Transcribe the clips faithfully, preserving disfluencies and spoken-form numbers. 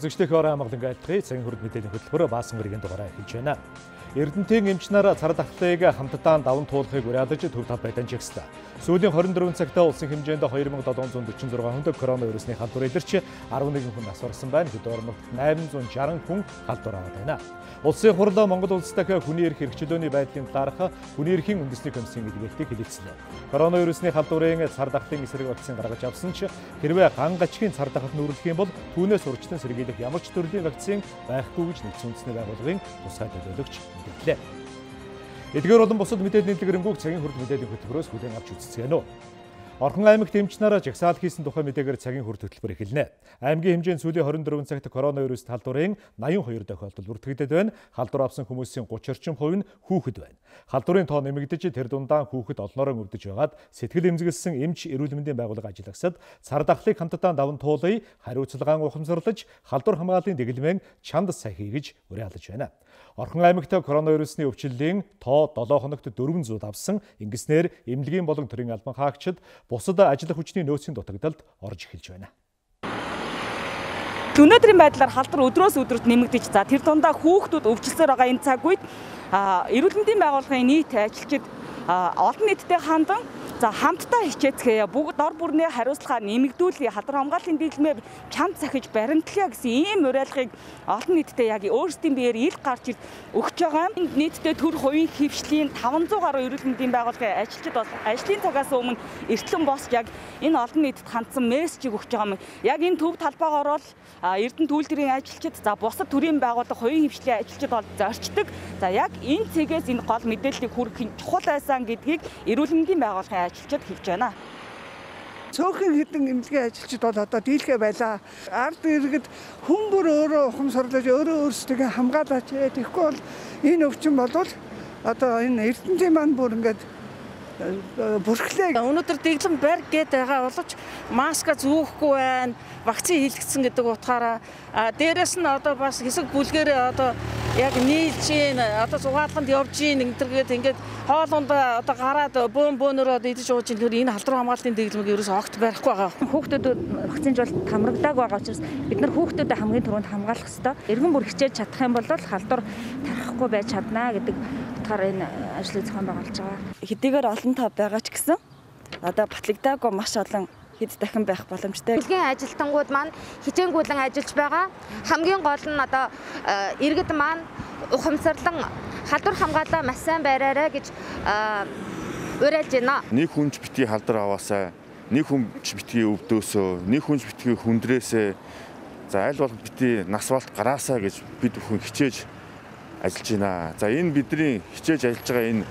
Үзэгчдийн орой амгалан айлтгая цагийн хүрд мэдээллийн хөтөлбөр баасан мөргийн дугаараа эхэлж байна. Эрдэнтийн эмч нар цар тахлыг хамтдаа даван туулахыг уриалж төв талбай дамжигсан. Сүүлийн хорин дөрвөн цагтаа улсын хэмжээнд хоёр мянга долоон зуун дөрвөн зургаан хүнд коронавирусны халдвар илэрч арван нэгэн хүн асуурсан байна. Хэд орногт найман зуун шаран хүн халдвар аваад байна. Улсын хурл Монгол улс дахь хүний эрх хэрэгчлөөний байдлын талаарх хүний эрхийн үндэсний комиссийн илгээлтийг хэлэлцэнэ. Коронавирусны халдварын цар тахлын эсрэг вакцин гаргаж авсан ч хэрвээ ган гачгийн цар тахалд нүүрлэх юм бол түүнээс урьдчилан сэргийлэх ямар ч төрлийн вакцин байхгүй гэж нэгдсэн үндэсний байгууллагын тусгай төлөөлөгч мэдээллээ. Эдгээр болон бусад мэдээллийн дэлгэрэнгүй цагийн хүрд мэдээллийн хөтөлбөрөөс хүлээн авч үзцгээнэ. Орхон аймагт эмч нараа жагсаал хийсэн тухай мэдээгээр цагийн хүрд хөтөлбөр эхэлнэ. Аймгийн хэмжээнд сүүлийн хорин дөрвөн цагт коронавирус халдварын найман хоёр тохиолдол бүртгэгдээд байна. Халдвар авсан хүмүүсийн гучин орчим хувь нь хүүхэд байна. Халдварын тоо нэмэгдэж тэр дундаа хүүхэд олноороо өвдөж байгаад сэтгэл эмзэглсэн эмч эрүүл мэндийн байгууллага ажиллагсад цар тахлыг хамтдаа даван туулъя, хариуцлагаан ухамсарлаж халдвар хамгааллын дэглэмэн чанд сахий гэж уриалж байна. Орхон аймагт коронавирусны өвчлөлийн тоо долоо хоногт дөрвөн зуун авсан. Ингэснээр эмнэлгийн болон төрийн албан хаагчид бусад ажиллах хүчний нөөцийн дутагдалд орж эхэлж байна. Өнөөдрийн байдлаар халдвар өдрөөс өдөрт нэмэгдэж, за тэр дундаа хүүхдүүд өвчлсөөр байгаа энэ цаг үед эрүүл мэндийн байгууллагын нийт ажилчид олон нийтэд хандан за хамтдаа хичээцгээе, бүгд дор бүрнээ хариуцлага нэмэгдүүлье, халдвар хамгааллын дэглэмээр чамд сахиж баримтлая гэсэн ийм уриалгыг олон нийтэд яг өөрсдийн биеэр ил гарч ирж өгч байгаа. Энд нийтдээ төр хувийн хөвшлийн таван зуун гаруй эрүүл мэндийн байгууллагын ажилчид бол ажлын цагаас өмнө эртлэн босч яг энэ олон нийтэд хандсан мессежийг өгч байгаа юм. Яг энэ төв талбайгаар бол Эрдэнэт үйлдвэрийн ажилчид, за бусад төрийн байгууллага хувийн хөвшлийн ажилчид бол зорчдог. За яг энэ цэгээс энэ гол мэдээллийг хүргэх чухал байсан гэдгийг эрүүл мэндийн байгууллагын ажилчид хэлж байна. Цөөхөн хэдэн эмнэлгийн ажилчид бол одоо дийлхэ байлаа. Ард иргэд хүн бүр өөрөө ухамсарлаж өөрөө өөрсдөө хамгаалаач. Тэгэхгүй бол энэ өвчин бол одоо энэ Эрдэнэтийн маань бүр ингээд бүрхлээ. Өнөөдөр дэглэм барь гээд байгаа боловч маска зүүхгүй байна. Вакцин хийлгэсэн гэдэг утгаараа дээрэс нь одоо бас хэсэг бүлгээр одоо яг нийлж гин одоо зугаалганд явж гин ингэдэргээд ингээд хоолунд одоо гараад бөөн бөөнөрөө идэж ууж гин энэ халдвар хамгааллын дэглэмийг ерөөс огт барихгүй байгаа. Хүүхдүүд вакцинжуулалт хамрагдааг байгаа учраас бид нар хүүхдүүдэд хамгийн түрүүнд хамгаалах ёстой. Эргэн бүр хичээж чадах юм бол халдвар тарахгүй байж чаднаа гэдэг утгаар энэ ажлыг зохион байгуулж байгаа. Хэдийгээр олон тав байгаа ч гэсэн одоо батлагдаагүй маш олон хэд дахин байх боломжтой. Хэлгийн ажилтнууд маань хичээнгүйлэн ажиллаж байгаа. Хамгийн гол нь одоо иргэд маань ухамсарлан халдвар хамгаалаа маш сайн байраарай гэж уриалж байна. Нэг хүнч битгий халдвар аваасаа, нэг хүнч битгий өвдөөсөө, нэг хүнч битгий хүндрээсээ, за аль болох битгий нас балт гараасаа гэж бид бүхэн хичээж ажиллаж байна. За энэ бидний хичээж ажиллаж байгаа энэ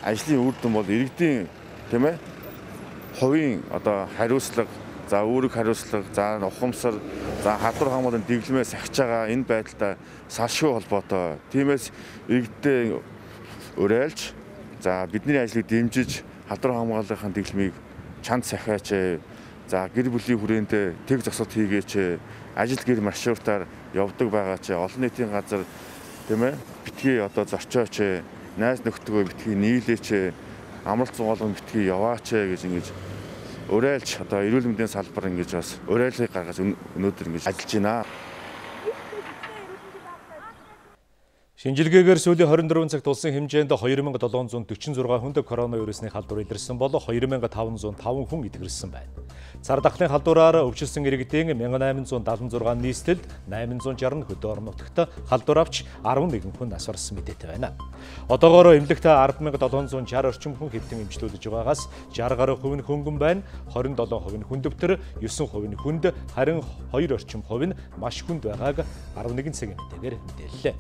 ажлын үр дүн бол иргэдийн тийм ээ хувийн одоо хариуцлага, за үүрэг хариуцлага, за ухамсар, за халдвар хамгааллын дэглэмээ сахиж байгаа энэ байдалтай салшгүй холбоотой. Тиймээс иргэдээ уриалж, за бидний ажлыг дэмжиж халдвар хамгааллын дэглэмийг чанд сахиач, за гэр бүлийн хүрээндээ тэг зогсоод хийгээч, ажил гэр маршрутаар явдаг байгаа ч олон нийтийн газар тийм ээ битгий одоо зорчооч, найз нөхдөдөө битгий нийлээч, амралт зугаалгын битгий яваач гэж ингэж уриалж одоо эрүүл мэндийн салбар ингэж бас уриалгыг гаргаж өнөөдөр ингэж ажиллаж байна. Шинжилгээгээр сүүлийн хорин дөрвөн цагт улсын хэмжээнд хоёр мянга долоон зуун дөрвөн зургаан хүнд коронавирусны халдвар илэрсэн бол хоёр мянга таван зуун таван хүн идэгэрсэн байна. Цар тахлын халдвараар өвчлсөн иргэдийн мянган найман зуун даатан зургаан нийслэлд найман зуун жаргал хөдөө орон нутагт халдвар авч арван нэгэн хүн нас барсан мэдээтэй байна. Одоогоор эмнэлэгт арван мянга долоон зуун шарван орчим хүн хэвтэн эмчлүүлж байгаагаас шарван гаруй хувь нь хөнгөн байна. хорин долоон хувь нь хүндөвтөр, девять хувь нь хүнд, харин хоёр орчим хувь нь маш хүнд байгааг арван нэгэн цагийн мэдээгээр мэдээллээ.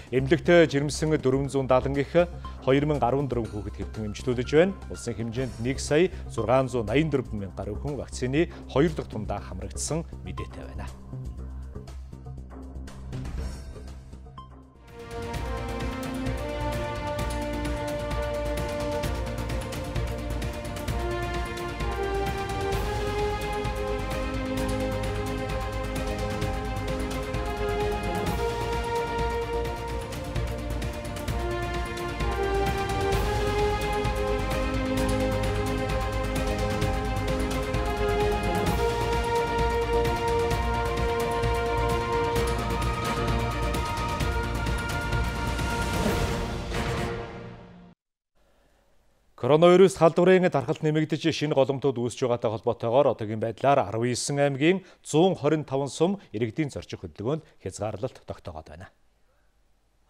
Эмнэлэгт жирэмсэн дөрвөн зуун даатангийнх хоёр мянга арван дөрвөн хүүхэд хэвтэн эмчлүүлж байна. Улсын хэмжээнд нэг сая зургаан зуун найман дөрвөн мянга гаруй хүн вакцины хоёр дахь тундаа хамрагдсан мэдээтэй байна. Коронавирус халдварын дархалт нэмэгдэж шинэ голомтууд үүсэж байгаатай холбоотойгоор одоогийн байдлаар арван есөн аймгийн зуун хорин таван сум иргэдийн зорчих хөдөлгөөнд хязгаарлалт тогтоогод байна.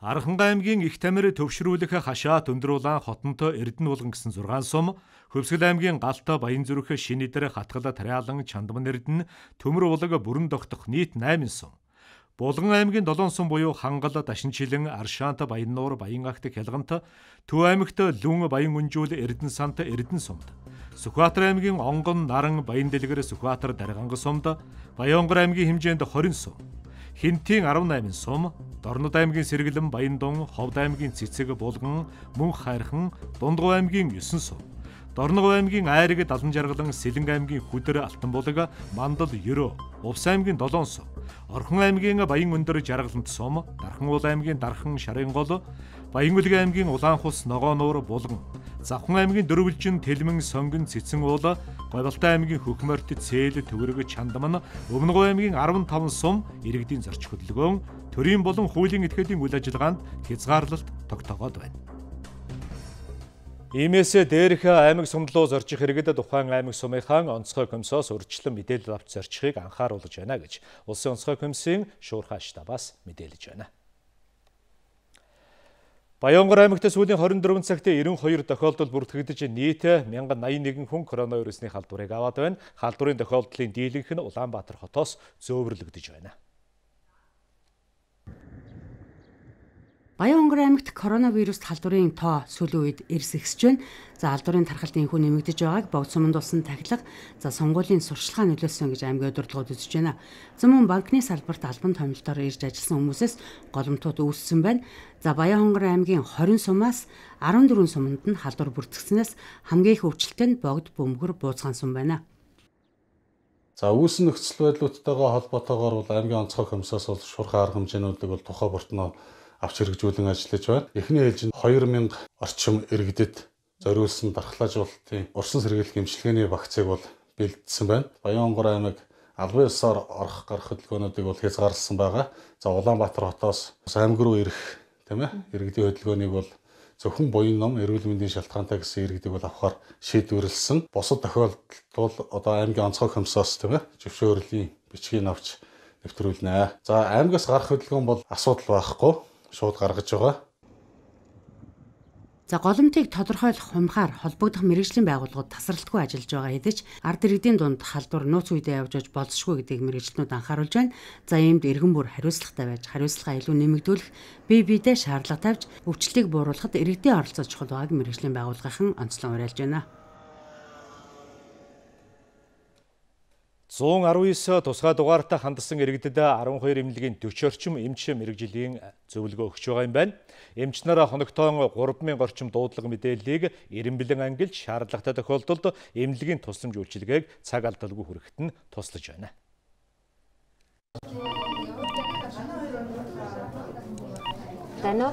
Аранханга аймгийн Их Тамир төвшрүүлэх хашаат өндөр улаан хотонтой Эрдэнэ булган гэсэн зургаан сум, Хөвсгөл аймгийн Галта Баянзүрх Шинэдэр Хатгал Тариалан Чандман Эрдэнэ Төмөр улаг Бүрэн Догтох нийт найман сум. Булган аймгийн долоон сум буюу Хангал, Дашинчилэн, Аршаант, Баяннуур, Баянгагт, Хялгант, Төв аймагт Лүн, Баян Үнжүүл, Эрдэнэ сант, Эрдэнэ сумд. Сүхбаатар аймгийн Онгон, Наран, Баян Дэлгэр, Сүхбаатар, Дарганга сумд, Баянгор аймгийн хэмжээнд хорин сум. Хинтийн арван найман сум, Дорнод аймгийн Сэргэлэн, Баяндун, Ховд аймгийн Цэцэг, Булган, Мөн Хайрхан, Дундгов аймгийн есөн сум. Дорногов аймгийн Айраг, Далан Жаргалан, Сэлэнг аймгийн Хүдэр, Алтанбулаг, Мандал, Ерөө, Увс аймгийн долоон сум. Орхон аймгийн Баян Өндөр, Жаргалант сум, Дархан аймгийн Дархан, Шарингол, Баянгүлэг аймгийн Улаанхус, Ногоонуур, Булган, Завхан аймгийн Дөрвөлжин, Тэлмэн, Сонгон, Цэцэн уул, Говьалтай аймгийн Хөхмөрт, Цээл, Төвөрөг, Чандман, Өмнөгов аймгийн арван таван сум иргэдийн зорчих хөдөлгөөн төрийн болон хуулийн этгээдийн үйл ажиллагаанд хязгаарлалт тогтоогод байна. Иймээс дээрх аймаг сумдлуу зорчих хэрэгэд тухайн аймаг сумынхаа онцгой комиссоос урьдчилан мэдээлэл авч зорчихыг анхааруулж байна гэж Улсын онцгой комиссийн шуурхай штабаас мэдээлж байна. Баянгор аймагт сүүлийн хорин дөрвөн цагт эрен хоёр тохиолдол бүртгэгдэж нийт мянган наян нэгэн хүн коронавирусны халдварыг аваад байна. Халдварын тохиолдлын дийлэнх нь Улаанбаатар хотоос зөөвөрлөгдөж байна. Баянгор аймагт коронавирус халдварын тоо сүүлийн үед эрс ихсэж байна. За халдварын тархалт энхүү нэмэгдэж байгааг богд суманд болсон тахилга, за сонгуулийн сурчлагаа нөлөөлсөн гэж аймгийн удирдлагууд үзэж байна. За мөн банкны салбарт албан томилтоор ирж ажилласан хүмүүсээс голомтууд үүссэн байна. За Баянгор аймгийн хорин сумаас арван дөрвөн суманд нь халдвар бүртгэснээс хамгийн их өвчлөлтэй нь богд бөмбөр бууцгаан сум байна. За үүсэн нөхцөл байдлуудтайгаа холбоотойгоор бол аймгийн онцгой комиссоос бол шуурхай арга хэмжээнүүдийг бол тухай бүртнөө авч хэрэгжүүлэн ажиллаж байна. Эхний ээлжинд хоёр мянга орчим иргэдэд зориулсан дархлаажуулалтын урсан сэргийлэх эмчилгээний вакцыг бол бэлдсэн байна. Баянгор аймаг албан ёсоор орох гарах хөдөлгөөнүүдийг бол хязгаарласан байгаа. За Улаанбаатар хотоос аймаг руу ирэх тийм ээ иргэдийн хөдөлгөөнийг бол зөвхөн буян ном, эрүүл мэндийн шалтгаантай гэсэн иргэдийг бол авахар шийдвэрлсэн. Бусад тохиолдолд бол одоо аймгийн онцгой комиссоос тийм ээ зөвшөөрлийн бичгийг авч нэвтрүүлнэ. За аймгаас гарах хөдөлгөөн бол асуудал байхгүй. Шууд гаргаж байгаа. За голомтыг тодорхойлох хумхаар холбогдох мэргэжлийн байгууллагууд тасралтгүй ажиллаж байгаа хэдиж ард иргэдийн дунд халдвар нууц үедээ явж аж болзошгүй гэдгийг мэргэжлэнүүд анхааруулж байна. За иймд иргэн бүр хариуцлагатай байж хариуцлагаа илүү нэмэгдүүлэх, бие биедээ шаардлага тавьж өвчлөлийг бууруулахад иргэдийн оролцоо чухал байгааг мэргэжлийн байгууллагын онцлон уриалж байна. зуун арван девять тусгай дугаартай хандсан иргэдэд арван хоёр эмнэлгийн дөрвөн орчим эмч мэрэгжлийн зөвлөгөө өгч байгаа юм байна. Эмч нараа хоногтоон гурван мянга орчим дуудлага мэдээллийг эрен бэлэн ангилж шаардлагатай тохиолдолд эмнэлгийн тусламж үйлчилгээг цаг алдалгүй хүрэхэд нь туслаж байна. Тано.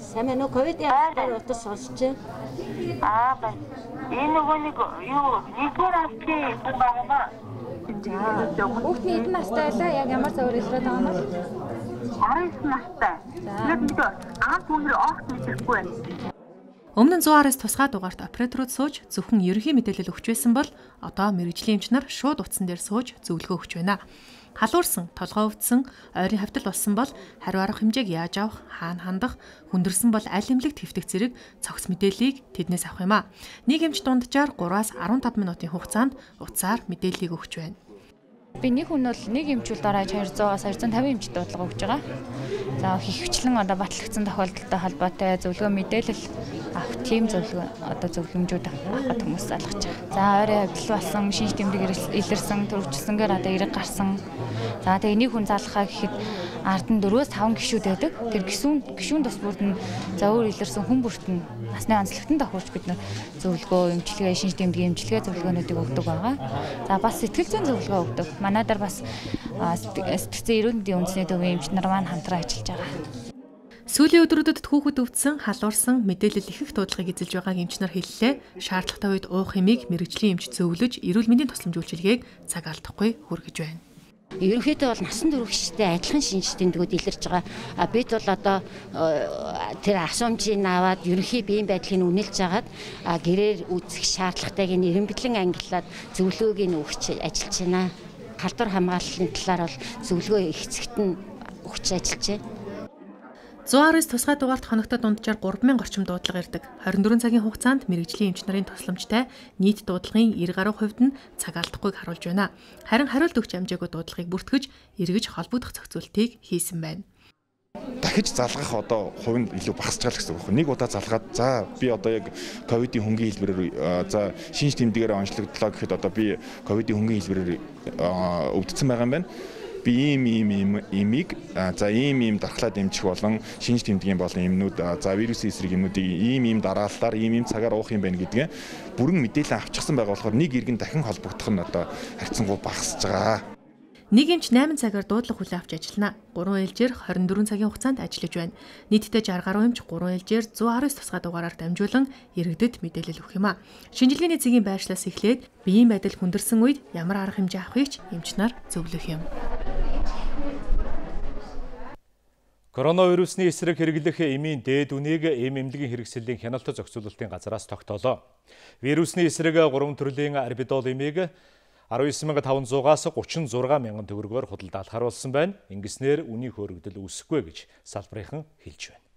Сайн уу ковидын утас сонсч аа ба энэ нөгөө нэг юу нэгдүгээр насны хүн байгаа маа. Хүүхдийн эдэн настай байлаа яг ямар зөвөр илрээд байгаа юм бэ? арван настай. Яг нэг анх бүгд огт мэдрэхгүй байна. Өмнө нь зуун араас тусгай дугаарт операторууд сууж зөвхөн ерөнхий мэдээлэл өгч байсан бол одоо мэрэгжлийн эмч нар шууд утсан дээр сууж зөвлөгөө өгч байна. Халуурсан, толгой өвдсөн, ойрын хавтал болсон бол хариу арга хэмжээг яаж авах, хаана хандах, хүндэрсэн бол аль эмнэлэгт хэвтэх зэрэг цогц мэдээллийг тэднээс авах юм а. Нэг эмч дунджаар гураас арван таван минутын хугацаанд утсаар мэдээллийг өгч байна. Би нэг хүн бол нэг эмчүүлд орооч двести-аас двести тавин эмчт дуудлага өгч байгаа. За хөвчлэн одоо батлагдсан тохиолдолтой холбоотой зөвлөгөө мэдээлэл авах тийм зөвлөгөө одоо зөвлөмжүүд авах хүмүүс залгаж байгаа. За ойрын хавьдал болсон, шинж тэмдэг илэрсэн, төрөвчлсөнгээр одоо эрэг гарсан. За тэгээ нэг хүн залхаа гэхэд ард нь дөрвөөс таван гишүүд байдаг. Тэр гишүүн гишүүн тус бүрд нь за өөр илэрсэн хүн бүрт нь насны онцлогтон давхурч бид нар зөвлөгөө, эмчилгээ, шинж тэмдгийн эмчилгээ зөвлөгөөнүүдийг өгдөг байгаа. За бас сэтгэл зүйн зөвлөгөө өгдөг. Манайдар бас сэтгцэн эрүүл мэндийн үндэсний төвийн эмч нар маань хамтран ажиллаж байгаа. Сүүлийн өдрүүдэд хүүхэд өвдсөн, халуурсан, мэдээлэл их их дуудлагыг эзэлж байгааг эмч нар хэллээ. Шаардлагатай үед уух хэмийг мэрэгжлийн эмч зөвлөж, эрүүл мэндийн тусламж үйлчилгээг цаг алдахгүй хүргэж байна. Ерөнхийдөө бол насан туршидтэй адилхан шинж тэмдгүүд илэрч байгаа. А бид бол одоо тэр асуумжийг аваад ерөнхий биеийн байдлыг үнэлж агаад гэрээр үзэх шаардлагатайг нь эренбитлэн ангиллаад зөвлөгөөг нь өгч ажиллаж байна. Халдвар хамгааллын талаар бол зөвлөгөө ихцэгт нь өгч ажиллаж байна. зуун араас тусгай дугаарт хоногтод дунджаар гурван мянга орчим дуудлага ирдэг. хорин дөрвөн цагийн хугацаанд мэрэгжлийн эмч нарын тусламжтай нийт дуудлагын девять гаруй хувьд нь цаг алдахгүйг харуулж байна. Харин хариулт өгч амжаагүй дуудлагыг бүртгэж, эргэж холбогдох зохицуултыг хийсэн байна. Дахиж залгах одоо хувь нь илүү багасч байгаа гэсэн үг. Нэг удаа залгаад за би одоо яг ковидын хөнгөн хэлбэрээр за шинж тэмдгээр онцлогдлоо гэхэд одоо би ковидын хөнгөн хэлбэрээр өвдсөн байгаа юм байна. Би ийм ийм имийг за ийм ийм дархлаад эмчих болон шинж тэмдгийн болон эмнүүд за вирусын эсрэг эмнүүдийг ийм ийм дараалалаар ийм ийм цагаар уух юм байна гэдгээ бүрэн мэдээлэл авчихсан байгаа болохоор нэг иргэн дахин холбогдох нь одоо харьцангуй багасж байгаа. Нэг эмч найман цагаар дуудлага хүлээн авч ажиллана. гурван ээлжээр хорин дөрвөн цагийн хугацаанд ажиллаж байна. Нийтдээ сixty гаруй эмч гурван ээлжээр one hundred nine тусгай дугаараар дамжуулан иргэдэд мэдээлэл өгөх юм а. Шинжилгээний цэгийн байршлаас эхлээд биеийн байдал хүндэрсэн үед ямар арга хэмжээ авахыг ч эмч нар зөвлөх юм. Коронавирусны эсрэг хэрэглэх эмийн дээд үнийг эм эмнэлгийн хэрэгслийн хяналт зохицуулалтын газраас тогтоолоо. Вирусны эсрэг гурван төрлийн арбидол эмийг nineteen thousand five hundred-аас thirty-six мянган төгрөгөөр худалдаалт харуулсан байна. Ингэснээр үнийн хөөрөгдөл үүсэхгүй гэж салбарынхан хэлж байна.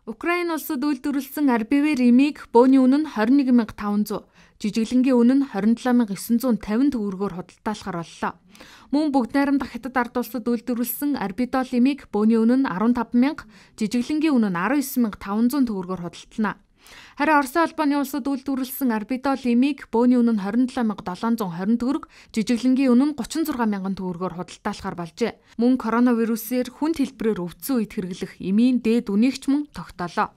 Украин улсад үйлдвэрлэсэн арбивер эмийг бөөний үнэ нь twenty-one thousand five hundred, жижиглэнгийн үнэ нь twenty-seven thousand nine hundred fifty төгрөгөөр худалдаалахар боллоо. Мөн бүгд найрамдах Хятад ард улсад үйлдвэрлэсэн арбидол эмийг бөөний үнэ нь fifteen thousand, жижиглэнгийн үнэ нь nineteen thousand five hundred төгрөгөөр худалдана. Харин Оросын албаны улсад үйлдвэрлэсэн арбидол эмийг бөөний үнэ нь twenty-seven thousand seven hundred twenty төгрөг, жижиглэнгийн үнэ нь thirty-six thousand төгрөгөөр худалдаалахар болжээ. Мөн коронавирусээр хүнд хэлбэрээр өвдсөн үед хэрэглэх эмийн дээд үнийг ч мөн тогтоолоо.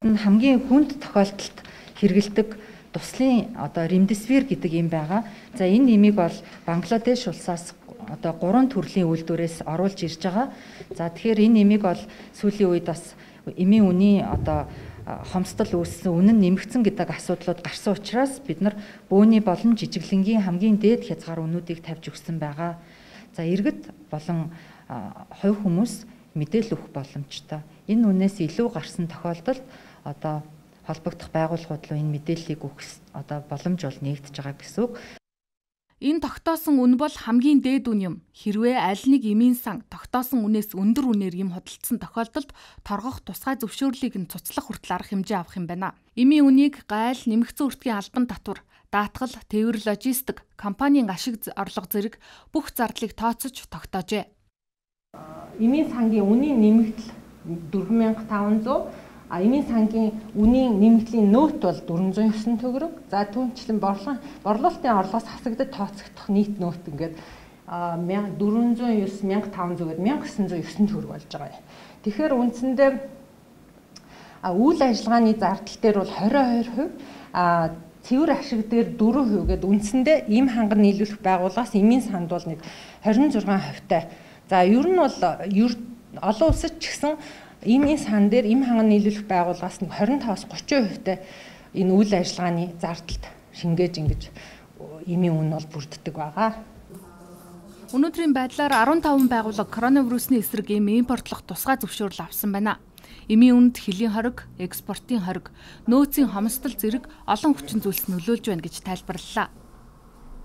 Хамгийн хүнд тохиолдолд хэрэгэлдэг туслын одоо ремдесивир гэдэг юм байгаа. За энэ эмийг бол Бангладеш улсаас одоо гурван төрлийн үйлдвэрээс оруулж ирж байгаа. За тэгэхээр энэ эмийг бол сүүлийн үед бас эмийн үнийн одоо хомсдол үүссэн, үнэн нэмэгдсэн гэдэг асуудлууд гарсан учраас бид нар бөөний болон жижиглэнгийн хамгийн дээд хязгаар үнүүдийг тавьж өгсөн байгаа. За иргэд болон хувь хүмүүс мэдээлэл өгөх боломжтой. Энэ үнээс илүү гарсан тохиолдолд одоо холбогдох байгууллагууд руу энэ мэдээллийг өгөх одоо боломж бол нэгдэж байгаа гэсэн үг. Энэ тогтоосон үн бол хамгийн дээд үн юм. Хэрвээ аль нэг эмийн сан тогтоосон үнээс өндөр үнээр эм хөдөлгдсөн тохиолдолд торгох тусгай зөвшөөрлийг нь цуцлах хүртэл арга хэмжээ авах юм байна. Эмийн үнийг гайл, нэмэгдсэн үртгийн албан татвар, даатгал, тээвэр логистик, компанийн ашиг орлого зэрэг бүх зардлыг тооцож тогтоожээ. Эмийн сангийн үнийн нэмэгдэл four thousand five hundred, а эмийн сангийн үнийн нэмэгдлийн нөөт бол four hundred nine төгрөг. За түүнчлэн борлон борлуулалтын орлогоос хасагдаж тооцогдох нийт нөөт ингээд four hundred nine thousand five hundred-ээр one thousand nine hundred nine төгрөг болж байгаа. Тэгэхээр үндсэндээ үйл ажиллагааны зардал дээр бол twenty-two percent, а цэвэр ашиг дээр four percent гэдэг үндсэндээ эм ханган нийлүүлэх байгууллагаас эмийн санд бол нэг twenty-six percent-тай. За ер нь бол олон улсад ч гэсэн эмийн сан дээр эм ханган нийлүүлэх байгууллагаас нэг twenty-five-аас thirty percent-тай энэ үйл ажиллагааны зардалд шингээж ингэж эмийн үн бол бүрддэг байгаа. Өнөөдрийн байдлаар fifteen байгууллага коронавирусны эсрэг эм импортлох тусгай зөвшөөрөл авсан байна. Эмийн үнд хөлийн хориг, экспортын хориг, нөөцийн хомсдол зэрэг олон хүчин зүйлс нөлөөлж байна гэж тайлбарлалаа.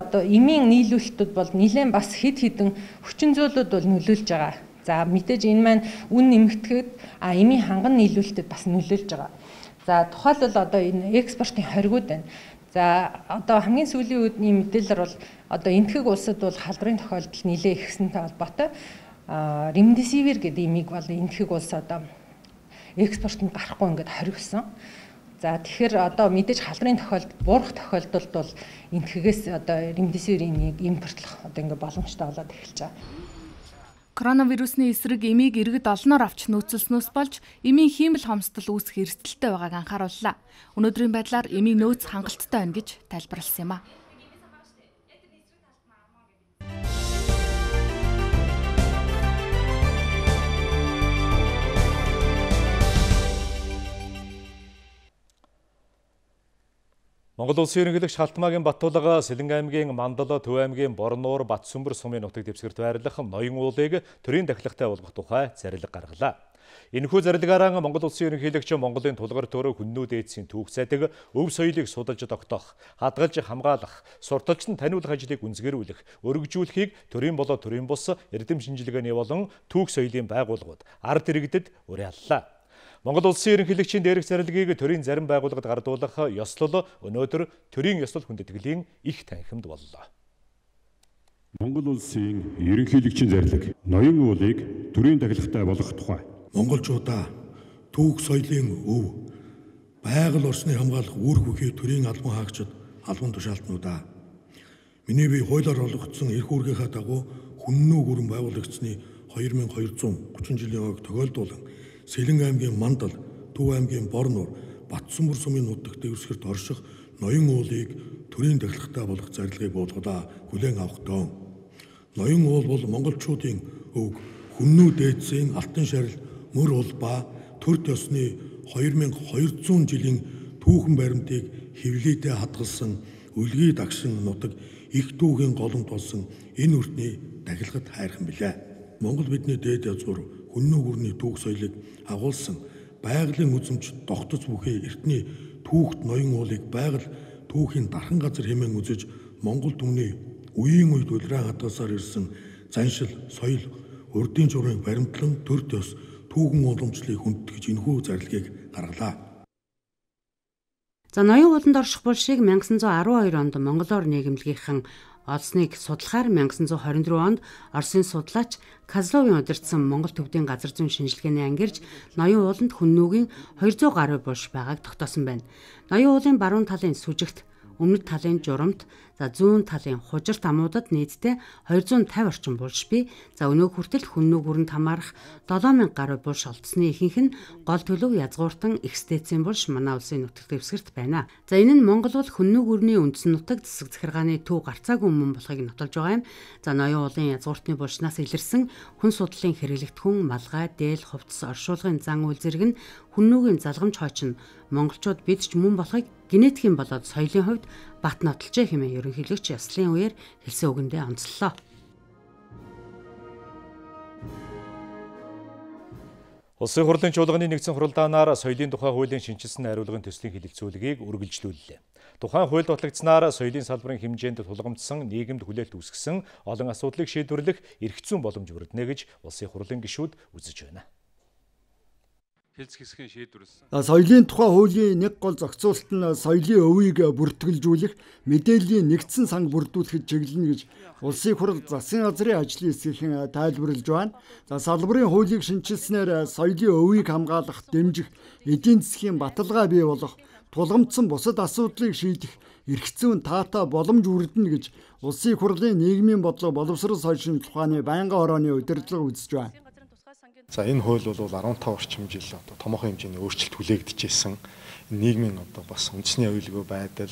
Одоо эмийн нийлүүлэлтүүд бол нэлээд бас хэд хэдэн хүчин зүйлүүд бол нөлөөлж байгаа. За мэдээж энэ маань үн нэмэгдэхэд а эмийн ханган нийлүүлэлтэд бас нөлөөлж байгаа. За тухайлбал одоо энэ экспортын хоригуд байна. За одоо хамгийн сүүлийн үеийн мэдээлэлээр бол одоо энтхэг улсад бол халдварын тохиолдол нэлээд ихсэнтэй холбоотой. А ремдесивир гэдэг эмийг бол энтхэг улс одоо экспортод гарахгүй ингээд хоригсон. За тэгэхээр одоо мэдээж халдварын тохиолдолд буурах тохиолдолд бол энтхэгээс одоо ремдесивир эмийг импортлох одоо ингээд боломжтой болоод эхэлж байгаа. Коронавирусны эсрэг эмийг иргэд олноор авч нөөцлснөөс болж эмийн хиймэл хомсдол үүсэх эрсдэлтэй байгааг анхаарууллаа. Өнөөдрийн байдлаар эмийн нөөц хангалттай байна гэж тайлбарласан юм а. Монгол улсын ерөнхийлөгч Халтмаагийн Баттулга Сэлэн аймгийн Мандала, Төв аймгийн Борнуур, Батсүмбэр сумын нутаг дэвсгэрт байрлах ноён уулыг төрийн дахилгатай болгох тухай зарлиг гаргалаа. Энэхүү зарлагаараа Монгол улсын ерөнхийлөгч Монголын тулгар төөрөө хүннүүд эйдсийн түүх сайдаг, өв соёлыг судалж тогтоох, хадгалж хамгаалах, сурталч нь таниулах ажлыг үнсгэрүүлэх, өргөжүүлэхийг төрийн болоод төрийн бус эрдэм шинжилгээний болон түүх соёлын байгууллагууд ард иргэдэд уриаллаа. Монгол улсын ерөнхийлөгчийн дээрх зарилгийг төрийн зарим байгууллагад гардуулах ёслол өнөөдөр төрийн ёслол хүндэтгэлийн их танхимд боллоо. Монгол улсын ерөнхийлөгчийн зарлиг ноён уулыг төрийн дахилгатай болгох тухай. Монголчуудаа түүх соёлын өв, байгаль орчны хамгаалах үүрэг бүхий төрийн албан хаагчид, албан тушаалтнуудаа миний бие хуулиар олгогдсон эрх үүргийнхаа дагуу хүннүү гүрэн байгуулагдсны хоёр nghìn хоёр зуун гучин жилийн ойг тохиолдуулан Сэлэн аймгийн Мандал, Төв аймгийн Борнуур, Батсүмбэр сумын нутаг дэвсгэрт орших ноён уулыг төрийн дахилгатай болгох зарилгыг буулгадаа хүлээн авах тоо. Ноён уул бол монголчуудын өв, хүннүү дээдсийн алтан шарил, мөр уул ба төр төсний хоёр nghìn хоёр зуун жилийн түүхэн баримтыг хэвлийдээ хадгалсан үлгий дагшин нутаг их түүхийн голомт болсон энэ үртний дахилгад хайрхан билээ. Монгол бидний дээд язгуур хүннүү гүрний түүх соёлыг агуулсан байгалийн үзэмж тогтц бүхий эртний түүхт ноён уулыг байгаль түүхийн дархан газар хэмээн үзэж Монгол түмний үеийн үед улиран хадгалсаар ирсэн заншил, соёл, урдын журмыг баримтлан төр төс түүхэн уламжлалыг хүндэтгэж энэхүү зарилгийг гаргалаа. За ноён ууланд орших булшийг 천ix арван хоёр онд монголоор нийгэмлэгийнхэн олсныг судлахаар 천ix хорин дөрөв онд Оросын судлаач Козловын удирдсан Монгол төвдийн газар зүйн шинжилгээний ангирж ноён ууланд хүннүүгийн двести гаруй булш байгааг тогтоосон байна. Ноён уулын баруун талын сүжигт, өмнөд талын журамт, за зүүн талын хужирт амуудад нийтдээ двести пенсаті орчим булш бий. За өнөө хүртэл хүннүү гүрэнд хамаарах долоо мянга гаруй булш олдсны ихэнх нь гол төлөв язгууртан экстецийн булш манай улсын нутаг дэвсгэрт байна. За энэ нь Монгол бол хүннүү гүрний үндсэн нутаг засаг захиргааны төв гарцаагүй өмнө болохыг нотолж байгаа юм. За ноён уулын язгууртны булшнаас илэрсэн хүн судлалын хэрэглэгдэхүүн, малгай, дээл, хувцас, оршуулгын зан үйл зэрэг нь хүннүүгийн залгамж хойч нь монголчууд бид ч мөн болохыг генетикийн болоод соёлын хувьд бат нотолжээ хэмээн ерөнхийлөгч яслын үеэр хэлсэн үгэндээ онцлолоо. Улсын хурлын чуулганы нэгдсэн хуралдаанаар соёлын тухай хуулийн шинжилсэн хариулгын төслийн хэлэлцүүлгийг үргэлжлүүллээ. Тухайн хууль батлагдсанаар соёлын салбарын хэмжээнд тулгамдсан нийгэмд хүлээлт үүсгэсэн олон асуудлыг шийдвэрлэх эрх зүйн боломж бүрднэ гэж улсын хурлын гишүүд үзэж байна. Хэлц хэсгийн шийдвэрлсэн. Соёлын тухай хуулийн нэг гол зохицуулалт нь соёлын өвийг бүртгэлжүүлэх, мэдээллийн нэгдсэн санг бүрдүүлэхэд чиглэнэ гэж улсын хурал засгийн газрын ажлын хэсгийн тайлбарлаж байна. За салбарын хуулийг шинжилснээр соёлын өвийг хамгаалах, дэмжих, эдийн засгийн баталгаа бий болгох, тулгамдсан бусад асуудлыг шийдэх эрх зүйн таатай боломж бүрдэнэ гэж улсын хурлын нийгмийн бодлого боловсрол соёл шинжилгээ ухааны байнгын орооны удирдлага үзэж байна. За энэ хууль бол арван таван орчим жил одоо томоохон хэмжээний өөрчлөлт хүлээгдэжсэн. Нийгмийн одоо бас үндэсний аюулгүй байдал,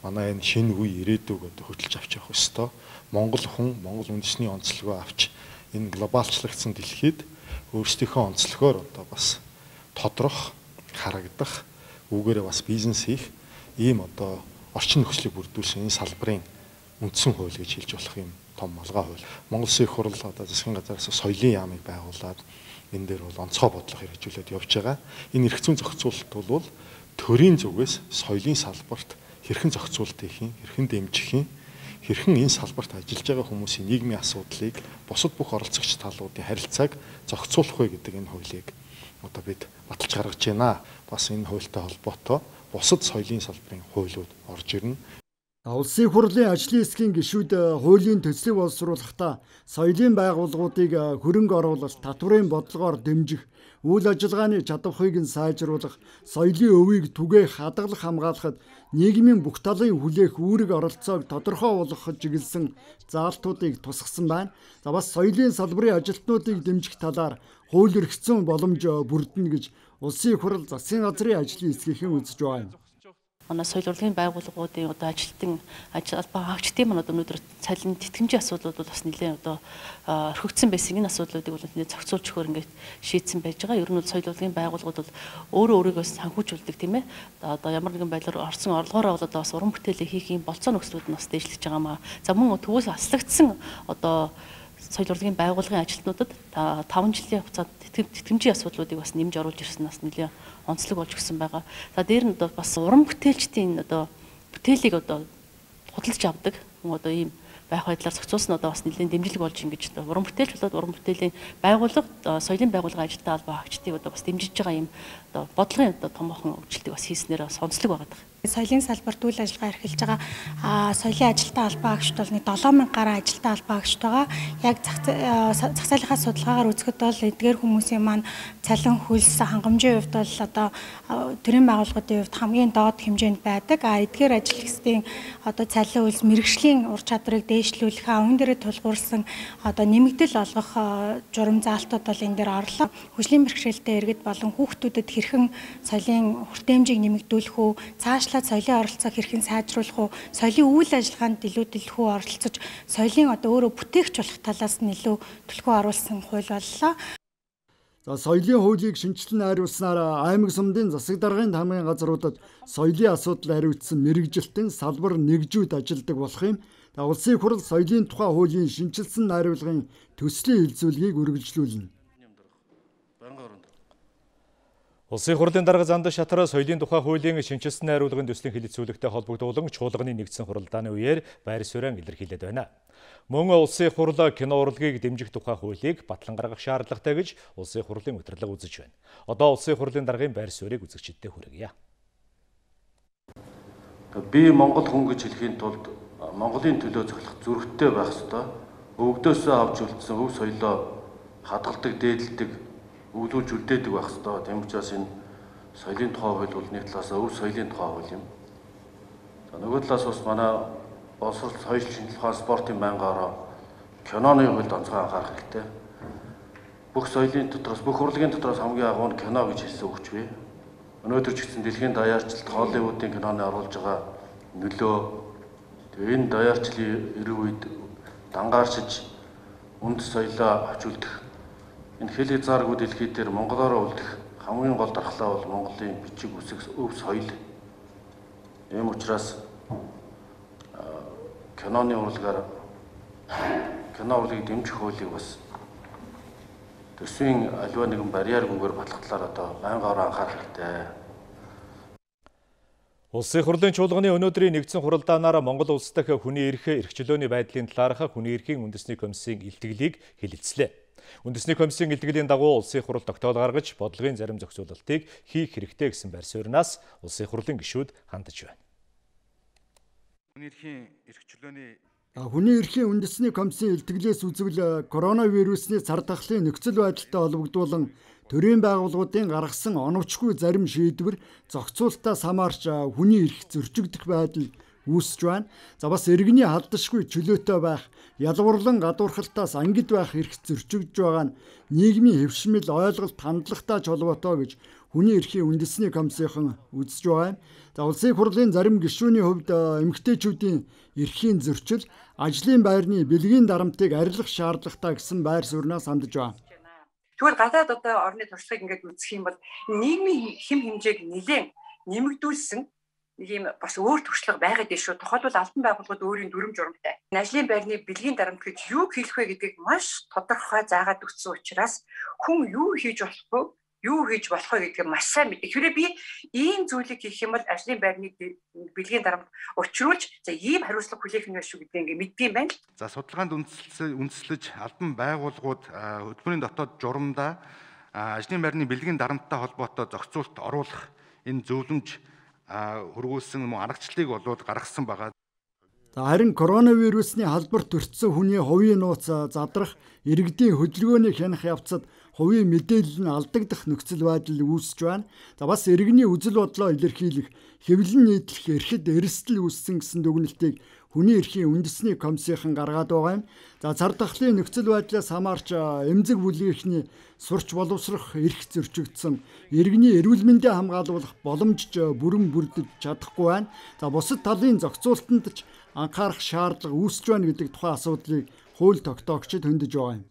манай энэ шинэ үе ирээдүг одоо хөтлж авч явах ёстой. Монгол хүн, Монгол үндэсний онцлогоо авч энэ глобалчлагдсан дэлхийд өөрсдийнхөө онцлогоор одоо бас тодрох, харагдах, үүгээрээ бас бизнес хийх ийм одоо орчин нөхцөлийг бүрдүүлсэн энэ салбарын үндсэн хууль гэж хэлж болох юм том малгай хууль. Монгол Улсын их хурл одоо засгийн газраас соёлын яамыг байгуулад энэ дээр бол онцгой бодлого хэрэгжүүлээд явж байгаа. Энэ эрх зүйн зохицуулалт бол төрийн зүгээс соёлын салбарт хэрхэн зохицуулалт хийх юм, хэрхэн дэмжих юм, хэрхэн энэ салбарт ажиллаж байгаа хүмүүсийн нийгмийн асуудлыг бусад бүх оролцогч талуудын харилцааг зохицуулах вэ гэдэг энэ хуулийг одоо бид баталж гаргаж байна. Бас энэ хуультай холбоотой бусад соёлын салбарын хуулиуд орж ирнэ. Улсын хурлын ажлын хэсгийн гишүүд хуулийн төслийг боловсруулахдаа соёлын байгууллагуудыг хөрөнгө оруулалт, татврын бодлогоор дэмжих, үйл ажиллагааны чадварыг нь сайжруулах, соёлын өвийг түгээх, хадгалах, хамгаалахад нийгмийн бүх талын хүлээх үүрэг оролцоог тодорхой болгоход чиглэсэн заалтуудыг тусгасан байна. За бас соёлын салбарын ажилтнуудыг дэмжих талаар хууль эрх зүйн боломж бүрдэнэ гэж улсын хурал засгийн газрын ажлын хэсгийнхэн үзэж байна. Манай соёл урлагийн байгууллагуудын одоо ажилтан ажил албаа хаагчдын маань одоо өнөөдөр цалин тэтгэмжийн асуудлууд бол бас нэлээд одоо орхигдсон байсан энэ асуудлуудыг бол нэлээд зохицуулж өгөхөр ингээд шийдсэн байж байгаа. Ер нь бол соёл урлагийн байгууллагууд бол өөрөө өөрийгөө санхүүжүүлдэг тийм ээ. Одоо ямар нэгэн байдлаар орсон орлогоороо бол одоо бас уран бүтээлээ хийх юм болцоо нөхцлүүд нь бас дээшлэж байгаа маа. За мөн төвөөс аслагдсан одоо соёл урлагийн байгууллагын ажилтнуудад таван жилийн хугацаанд тэтгэмжийн асуудлуудыг бас нэмж оруулж ирсэн нас нэлээд онцлог болж гисэн байгаа. За дээр нь одоо бас уран бүтээлчдийн одоо бүтээлийг одоо худалдаж авдаг одоо ийм байх байдлаар зохицуулсан одоо бас нэлээд дэмжлэг болж ингэж одоо уран бүтээлч болоод уран бүтээлийн байгууллага соёлын байгууллагын ажилтаа албаа хаагчдыг одоо бас дэмжиж байгаа ийм одоо бодлогын одоо томоохон өөрчлөлтийг бас хийснээр бас онцлог байгаа. Соёлын салбарт үйл ажиллагаа эрхэлж байгаа соёлын ажилтаа албаа хаагчд бол нэг долоон мянга гаруй ажилтаа албаа хаагчд байгаа. Яг зах зээлийнхаа судалгаагаар үзэхэд бол эдгээр хүмүүсийн маань цалин хөлс хангамжийн хувьд бол одоо төрийн байгууллагуудын хувьд хамгийн доод хэмжээнд байдаг. А эдгээр ажил хэсгийн одоо цалин хөлс мэрэгжлийн ур чадрыг дээшлүүлэх, өмнө дээрээ тулгуурласан одоо нэмэгдэл олгох журам заалтууд бол энэ дээр орлоо. Хөгжлийн бэрхшээлтэй иргэд болон хүүхдүүдэд хэрхэн соёлын хүртээмжийг нэмэгдүүлэх үү, цааш соёлын оролцоог хэрхэн сайжруулах уу, соёлын үйл ажиллагаанд илүү дэлгүү оролцож, соёлын одоо өөрөө бүтээгч болох талаас нь илүү төлхөө оруулсан хууль боллоо. За соёлын хуулийг шинжилэн найруулснаар аймаг сумдын засаг даргын хамгийн газруудад соёлын асуудал хариуцсан мэрэгжилтэн салбар нэгжүүд ажилладаг болох юм. Улсын хурал соёлын тухай хуулийн шинжилсэн найруулгын төслийн хэлэлцүүлгийг үргэлжлүүлнэ. Улсын хурлын дарга занд шатар соёлын тухай хуулийн шинжилсэн найруулгын төслийн хэлэлцүүлэгтэй холбогдуулан чуулганы нэгдсэн хуралдааны үеэр байр суурин илэрхийлээд байна. Мөн улсын хурал кино урлагийг дэмжих тухай хуулийг батлан гаргах шаардлагатай гэж улсын хурлын удирдлага үзэж байна. Одоо улсын хурлын даргын байр суурийг үзэгчдэд хүргье. Би Монгол хүн гэж хэлхийн тулд Монголын төлөө зөвлөх зүрхтэй байх ёстой. Өвгдөөсөө авч үлдсэн өв соёлоо хадгалдаг, дээдэлдэг, өглүүлж үлдээдэг байх ёстой. Тийм учраас энэ соёлын тухай хууль бол нэг талаас өв соёлын тухай хууль юм. За нөгөө талаас бас манай боловсрол соёл шинжилгээ ухаан спортын байнгаараа киноны хуульд онцгой анхаарах хэрэгтэй. Бүх соёлын дотроос, бүх урлагийн дотроос хамгийн агуу нь кино гэж хэлсэн өгч бий. Өнөөдөр ч гэсэн дэлхийн даяарчлалт Холливуудын киноны оруулж байгаа нөлөө тэгээ энэ даяарчлалын эрэг үед дангаарчиж үнд соёлоо авч үлдэх энэ хэл хязгааргүй дэлхий дээр монголоор үлдэх хамгийн гол дархлаа бол Монголын бичиг үсэг өв соёл. Ийм учраас киноны урлагаар кино урлагийг дэмжих хуулийг бас төсвийн аливаа нэгэн барьяаргүйгээр батлах талаар одоо байнгаараа анхаарах хэрэгтэй. Улсын хурлын чуулганы өнөөдрийн нэгдсэн хуралдаанаар Монгол улс дахь хүний эрх, эрх чөлөөний байдлын талаарх хүний эрхийн үндэсний комиссийн илтгэлийг хэлэлцлээ. Үндэсний комиссийн илтгэлийн дагуу улсын хурал тогтоол гаргаж бодлогын зарим зохицуулалтыг хийх хэрэгтэй гэсэн байр сууриас улсын хурлын гишүүд хандж байна. Хүний эрхийн эрх чөлөөний Хүний эрхийн үндэсний комиссийн илтгэлээс үзвэл коронавирусны цар тахлын нөхцөл байдалтай холбогдуулан төрийн байгууллагуудын гаргасан оновчгүй зарим шийдвэр зохицуулалтаас хамаарч хүний эрх зөрчигдөх байдал үүсэж байна. За бас иргэний халдашгүй чөлөөтэй байх, ялварлан гадуурхалтаас ангид байх эрх зөрчигдөж байгаа нь нийгмийн хэвшмэл ойлголт хандлагатай ч холбоотой гэж хүний эрхийн үндэсний комиссийнхан үзэж байгаа юм. За улсын хурлын зарим гишүүний хувьд эмэгтэйчүүдийн эрхийн зөрчил, ажлын байрны бэлгийн дарамтыг арилгах шаардлагатай гэсэн байр сууриас хандж байна. Тэгвэл гадаад одоо орны туршлагыг ингээд үзэх юм бол нийгмийн хэм хэмжээг нэлээд нэмэгдүүлсэн нэг юм бас өөр туршлага байгаад байна шүү. Тухайлбал албан байгууллагууд өөрийн дүрм журамтай. Ажлын байрны бэлгийн дарамт гэж юу хэлэх вэ гэдгийг маш тодорхой заагаад өгсөн учраас хүн юу хийж болохгүй, юу хийж болох вэ гэдгийг маш сайн мэдээ. Хэрвээ би ийм зүйлийг хийх юм бол ажлын байрны бэлгийн дарамт учруулж за ийм хариуцлага хүлээх нь шүү гэдгийг ингээ мэддэм байна. За судалгаанд үндэслэж албан байгууллагууд хөтөлбөрийн дотоод журамдаа ажлын байрны бэлгийн дарамттай холбоотой зохицуулалт оруулах энэ зөвлөмж хөргүүлсэн мөн аргачлалыг болоод гаргасан байгаа. Харин коронавирусны халдварт өртсөн хүний хувийн нууц задрах, иргэдийн хөдөлгөөний хянах явцад хувийн мэдээлэл нь алдагдах нөхцөл байдал үүсэж байна. За бас иргэний үзэл бодлоо илэрхийлэх, хэвлэн нийтлэх эрхэд эрсдэл үүссэн гэсэн дүгнэлтийг хүний эрхийн үндэсний комиссийн гаргаад байгаа юм. За цар тахлын нөхцөл байдлаас хамаарч эмзэг бүлгийнхний сурч боловсрох эрх зөрчигдсөн, иргэний эрүүл мэндийг хамгаалуулах боломжж бүрэн бүрдэж чадахгүй байна. За бусад талын зохицуулалтанд ч анхаарах шаардлага үүсэж байна гэдэг тухайн асуудлыг хууль тогтоогчид хөндөж байгаа юм.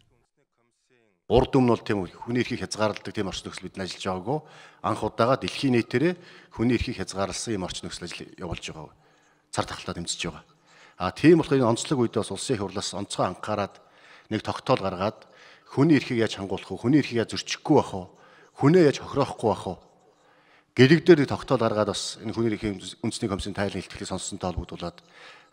Урд өмнө бол тийм хүний эрхийг хязгаарладаг тийм орчин нөхцөл бид ажиллаж байгаагүй. Анх удаага дэлхийн нийтээрээ хүний эрхийг хязгаарласан юм орчин нөхцөл ажил явуулж байгаа. Цар тахалтаа дэмжиж байгаа. А тийм болохоор энэ онцлог үед бас улсын их хурлаас онцгой анхаарад нэг тогтоол гаргаад хүний эрхийг яаж хангуулах вэ? Хүний эрхийг яаж зөрчихгүй байх вэ? Хүнээ яаж хохироохгүй байх вэ? Гэрэгдээр нэг тогтоол гаргаад бас энэ хүний эрхийн үндэсний комиссийн тайлан илтгэхийг сонссонтой холбогдуулаад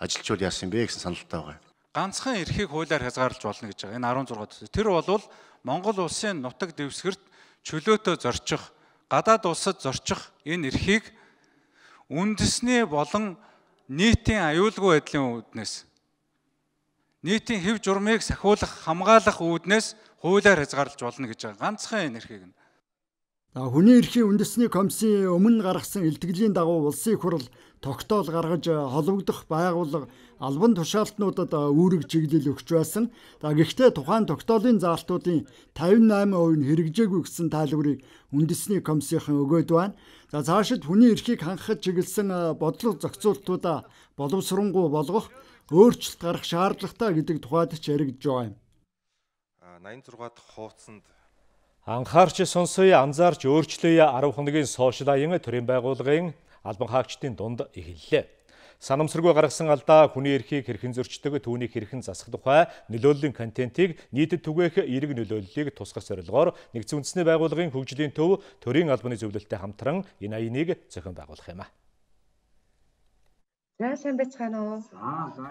ажилчуул яасан бэ гэсэн саналтай байгаа. Ганцхан эрхийг хуулиар хязгаарлаж болно гэж байгаа. Энэ арван зургаат. Тэр бол Монгол улсын нутаг дэвсгэрт чөлөөтөө зорчих, гадаад улсад зорчих энэ эрхийг үндэсний болон нийтийн аюулгүй байдлын үүднээс нийтийн хэв журмыг сахиулах, хамгаалах үүднээс хуулиар хязгаарлаж болно гэж байгаа. Ганцхан энэ эрхийг нь. За хүний эрхийн үндэсний комиссийн өмнө гаргасан илтгэлийн дагуу улсын их хурл тогтоол гаргаж холбогдох байгууллага албан тушаалтнуудад үүрэг чиглэл өгч байсан. За гэхдээ тухайн тогтоолын заалтуудын тавин найман хувь нь хэрэгжээгүй гэсэн тайлбарыг үндэсний комиссийнхан өгөөд байна. За цаашид хүний эрхийг хангахад чиглэсэн бодлого зохицуултуудаа боловсронгуй болгох, өөрчлөлт гарах шаардлагатай гэдэг тухайд ч яригдж байгаа юм. ноён зургаат хуудсанд анхаарч сонсоё, анзаарч өөрчлөе арав хоногийн сошиал аян төрийн байгууллагын албан хаагчдын дунд эхэллээ. Санамсаргүй гаргасан алдаа хүний эрхийг хэрхэн зөрчдөг, түүнийг хэрхэн засах тухай нөлөөллийн контентийг нийтэд түгээх эерэг нөлөөллийг тусгах зорилгоор нэгдсэн үндэсний байгууллагын хөгжлийн төв төрийн албаны зөвлөлтөд хамтран энэ аяныг зохион байгуулах юм а. За сайн байцгаана уу.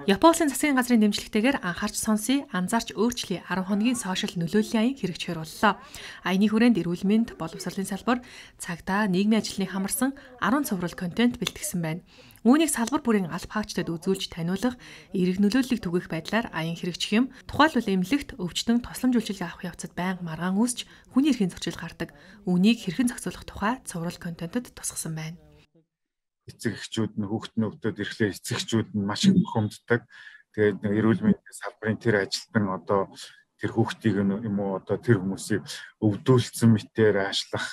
Японы засгийн газрын дэмжлэгтэйгээр анхаарч сонсъё, анзаарч өөрчлөе арав хоногийн сошиал нөлөөллийн аян хэрэгжихэр боллоо. Аяны хүрээнд эрүүл мэнд, боловсролын салбар, цагдаа, нийгмийн ажлыг хамарсан арван цуврал контент бэлтгэсэн байна. Үүнийг салбар бүрийн алба хаагчдад үзүүлж таниулах, эерэг нөлөөллийг түгээх байдлаар аян хэрэгжих юм. Тухайлбал эмнэлэгт өвчтөн тослом жүлжилгээ авах явцад байнга маргаан үүсч хүний эрхийн зөрчил гардаг. Үүнийг хэрхэн зохицуулах тухай цуврал контентэд тусгасан байна. Эцэг эхчүүд нь хүүхдийн өвдөд ирэхлээр эцэг эхчүүд нь маш их бухимддаг. Тэгээд эрүүл мэндийн салбарын тэр ажилтан одоо тэр хүүхдийг юм уу одоо тэр хүмүүсийг өвдүүлсэн мэтээр аашлах,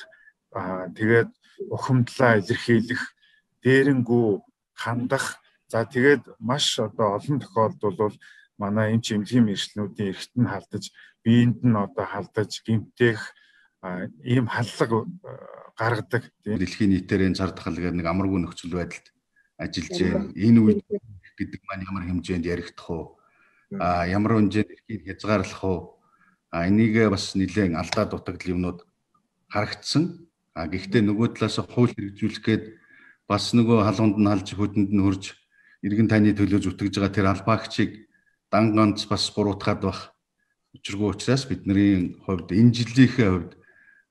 тэгээд ухамдлаа илэрхийлэх, дээрэнгүү хандах. За тэгээд маш одоо олон тохиолдолд бол манай эмч эмнэлгийн мэргэжлүүдийн эрхт нь халдаж, биеинд нь одоо халдаж, гэмтэх ийм халлага гаргадаг. Дэлхийн нийтээр энэ цар тахал гэдэг нэг амаргүй нөхцөл байдалд ажиллаж байна. Энэ үед гэдэг маань ямар хэмжээнд яригдах уу? А ямар хэмжээнд эрхийг хязгаарлах уу? А энийг бас нэлээд алдаа дутагдал юмнууд харагдсан. А гэхдээ нөгөө талаас хууль хэрэгжүүлэх гээд бас нөгөө халуунд нь халж хөдөнд нь хөрж иргэн таны төлөө зүтгэж байгаа тэр албаагчийг дан ганц бас буруутгаад байх учиргүй учраас бидний хувьд энэ жилийнхээ хувьд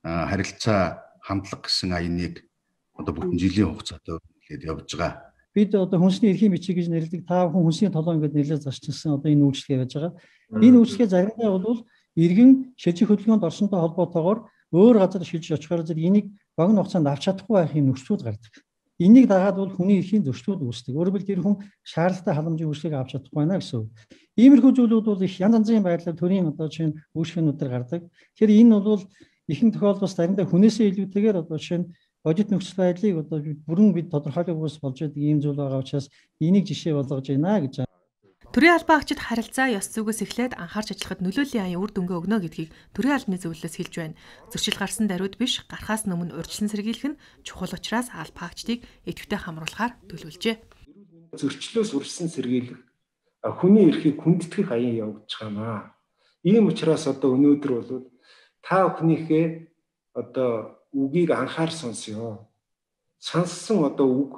харилцаа хамтлаг гэсэн аяныг одоо бүтэн жилийн хугацаатай хэлээд явж байгаа. Бид одоо хүнсний эрхийн бичиг гэж нэрлэдэг та бүхэн хүнсний толгой ингээд нэлээд зарчилсан одоо энэ үйлчлэгээ байж байгаа. Энэ үйлчлэгээ заримдаа бол иргэн шилжих хөдөлгөөнд орсонтой холбоотойгоор өөр газар шилжиж очихоор зэрэг энийг богино хугацаанд авч чадахгүй байх юм нөхцлүүд гардаг. Энийг дагаад бол хүний эрхийн зөрчлүүд үүсдэг. Өөрөөр хэлбэл тэр хүн шаардлагатай халамжийн үйлчлэгийг авч чадахгүй байна гэсэн үг. Иймэрхүү зүйлүүд бол их янз янзын байдлаар төрийн одоо чинь үйлчлэгээнүүдээр гардаг. Тэгэхээр энэ бол ихэнх тохиолдолд бас заримдаа хүнээсээ илүүтэйгээр одоо жишээ нь бодит нөхцөл байдлыг одоо бүрэн бид тодорхойлохгүйс болж байгаа ийм зүйл байгаа учраас энийг жишээ болгож байна гэж. Төрийн албан хаагчид харилцаа ёс зүгээс эхлээд анхаарч ажиллахад нөлөөллийн аян үр дүнгээ өгнө гэдгийг төрийн албаны зөвлөлөөс хэлж байна. Зөрчил гарсан даруйд биш, гарахаас өмнө урьдчилан сэргийлэх нь чухал учраас албан хаагчдыг идэвхтэй хамруулахаар төлөвлөжээ. Зөрчлөөс урьдчилан сэргийлэх хүний эрхийг хүндэтгэх аян явагдаж байна. Ийм учраас одоо өнөөдөр бол та бүхнийхээ одоо үгийг анхаар сонсё. Сонссон одоо үг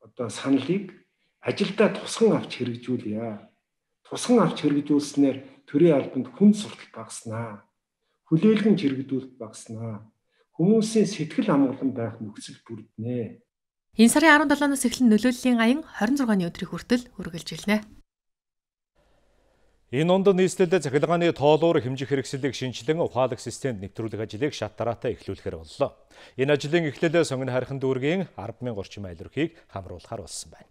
одоо саналыг ажилдаа тусган авч хэрэгжүүлье. Тусган авч хэрэгжүүлснээр төрийн албанд хүн суртал багаснаа. Хүлээлгэн хэрэгжүүлэлт багаснаа. Хүмүүсийн сэтгэл амгалан байх нөхцөл бүрднэ. Энэ сарын арван долоноос эхлэн нөлөөллийн аян хорин зургааны өдрийн хүртэл үргэлжилнэ. Энэ онд нийслэлд цахилгааны тоолуур хэмжих хэрэгслийг шинжилэн ухаалаг системд нэвтрүүлэх ажлыг шат дараатай эхлүүлэхээр боллоо. Энэ ажлын эхлэл сонгон хайрхан дүүргийн арван мянган орчим айл өрхийг хамруулахаар болсон байна.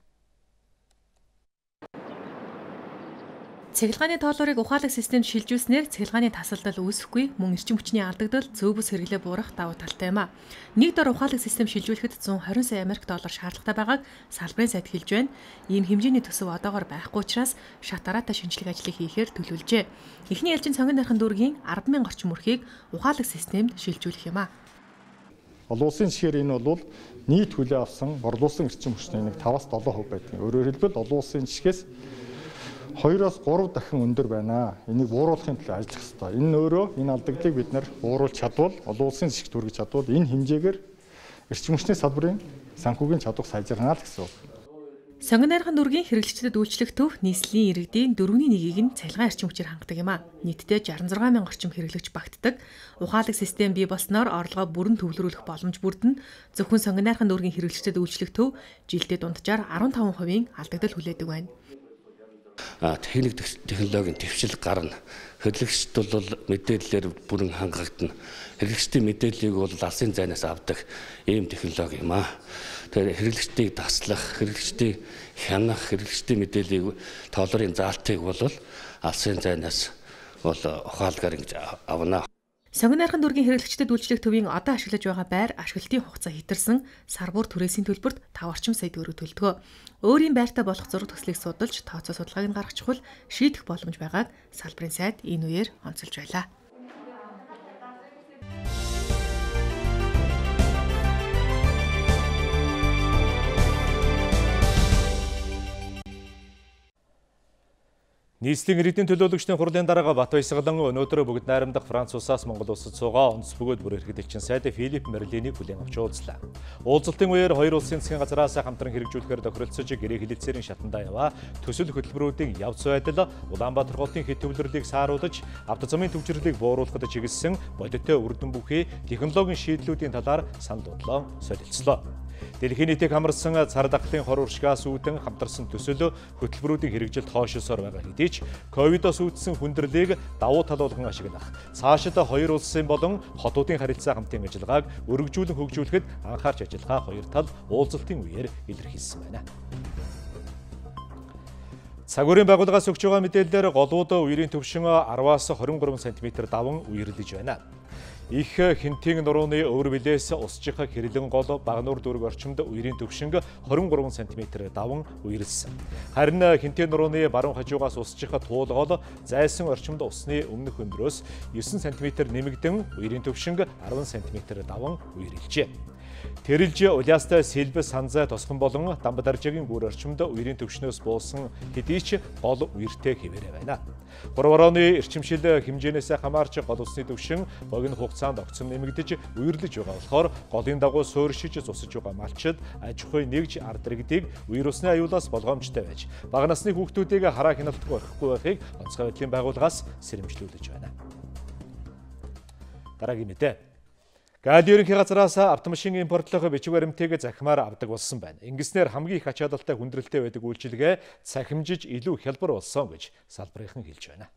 Цахилгааны тоолоорыг ухаалаг системд шилжүүлснээр цахилгааны тасалдал үүсэхгүй, мөн эрчим хүчний алдагдал, зөө бүс хэрэглээ буурах давуу талтай юм а. Нэг дор ухаалаг систем шилжүүлэхэд one hundred twenty Америк доллар шаардлагатай байгааг салбарын сайд хэлж байна. Ийм хэмжээний төсөв одоогоор байхгүй учраас шат дараатай шинжилгээ ажлыг хийхээр төлөвлөжээ. Эхний ээлжийн цонгон нархан дүүргийн ten thousand орчим өрхийг ухаалаг системд шилжүүлэх юм а. Олон улсын жишгээр энэ бол нийт хүлээ авсан борлуулсан эрчим хүчний нэг five-аас seven percent байдаг. Өөрөөр хэлбэл олон улсын жишгээс two-оос three дахин өндөр байна. Энийг бууруулахын төлөө ажиллах ёстой. Энэ өөрөө энэ алдагдлыг бид нар бууруулж чадвал, олон улсын зэшигт хүргэж чадвал энэ хэмжээгээр эрчим хүчний салбарын санхүүгийн чадвар сайжирна л гэсэн үг. Сонгон найрхан дүүргийн хэрэглэгчдэд үйлчлэх төв нийслэлийн иргэдийн дөрвийн нэгийг нь цахилгаан эрчим хүчээр хангадаг юм а. Нийтдээ sixty-six thousand орчим хэрэглэгч багтдаг. Ухаалаг систем бий болсноор орлогоо бүрэн төвлөрүүлэх боломж бүрдэнэ. Зөвхөн сонгон найрхан дүүргийн хэрэглэгчдэд үйлчлэх төв жилдээ дунджаар fifteen percent алдагдал хүлээдэг байна. Техник технологийн твшил гарна. Хэрэглэгчд бол мэдээллээр бүрэн хангагдана. Хэрэглэгчдийн мэдээллийг бол алсын зайнаас авдаг ийм технологи юм а. Тэгэхээр хэрэглэгчдийг таслах, хэрэглэгчдийг хянах, хэрэглэгчдийн мэдээллийг тоолорын заалтыг бол алсын зайнаас бол ухаалгаар ингэж авна. Сонгон найрхан дүүргийн хэрэглэгчдэд үйлчлэх төвийн одоо ашиглаж байгаа байр ашиглалтын хугацаа хэтэрсэн сар бүр түрээсийн төлбөрт five орчим сая төгрөг төлдөг. Өөрийн байртай болох зураг төслийг судалж, тооцоо судалгааг нь гаргах чухал шийдэх боломж байгааг салбарын сайд энэ үеэр онцолж байлаа. Нийслэлийн иргэдийн төлөөлөгчдийн хурлын дарга Бат Баясгалан өнөөдөр бүгд найрамдах Франц улсаас Монгол улсад суугаа онц бөгөөд бүр эрхлэгчин сайд Филипп Мерлинийг хүлээн авч уулзлаа. Уулзалтын үеэр хоёр улсын засгийн газраас хамтран хэрэгжүүлэхээр тохиролцож гэрээ хэлэлцээрийн шатандаа яваа төсөл хөтөлбөрүүдийн явц байдал Улаанбаатар хотын хэт төвлөрлийг сааруулж авто замын төвчрлийг бууруулахад чиглэсэн бодиттой үрдэн бүхий технологийн шийдлүүдийн талаар санал бодлоо солилцлоо. Дэлхийн нийтийг хамарсан цар тахлын хор уршигаас үүдэн хамтарсан төсөл хөтөлбөрүүдийн хэрэгжилт хойшилсоор байгаа хэдий ч ковидос үүдсэн хүндрэлийг давуу тал болгон ашиглах, цаашид хоёр улсын болон хотуудын харилцаа хамтын ажиллагааг өргөжүүлэн хөгжүүлэхэд анхаарч ажиллахаа хоёр тал уулзалтын үеэр илэрхийлсэн байна. Цагуурийн байгууллагаас өгч байгаа мэдээлэлээр голууд үерийн төвшин ten-аас twenty-three сантиметр даван үерлэж байна. Их хинтийн нурууны өвөр билээс усчих хэрлэн гол багнуур дүүрэг орчимд үерийн төвшинг twenty-three сантиметр даван үерлсэн. Харин хинтийн нурууны баруун хажуугаас усчих туулгол зайсан орчимд усны өмнөх өндрөөс nine сантиметр нэмэгдэн үерийн төвшинг ten сантиметр даван үерлжээ. Тэрэлж улаастай сэлбэ санзай тосхон болон Дамбадаржигийн бүр орчимд үерийн төвшнөөс буусан хэдий ч гол үертэй хэвээрээ байна. three орооны эрчимшил хэмжээнээс хамаарч гол усны төвшин богино хугацаанд огцом нэмэгдэж үерлэж байгаа болохоор голын дагуу суурьшиж зусаж байгаа малчид аж ахуй нэгж ард иргэдийг үер усны аюулаас болгоомжтой байж бага насны хүүхдүүдийг хараа хяналтгүй орхихгүй байхыг онцгой байдлын байгууллагаас сэрэмжлүүлж байна. Дараагийн мэдээ. Гадны ерөнхий газраас автомашин импортлох бичиг баримтыг захимаар авдаг болсон байна. Ингэснээр хамгийн их ач холбогдолтой хүндрэлтэй байдаг үйлчилгээ цахимжиж илүү хялбар болсон гэж салбарынхан хэлж байна.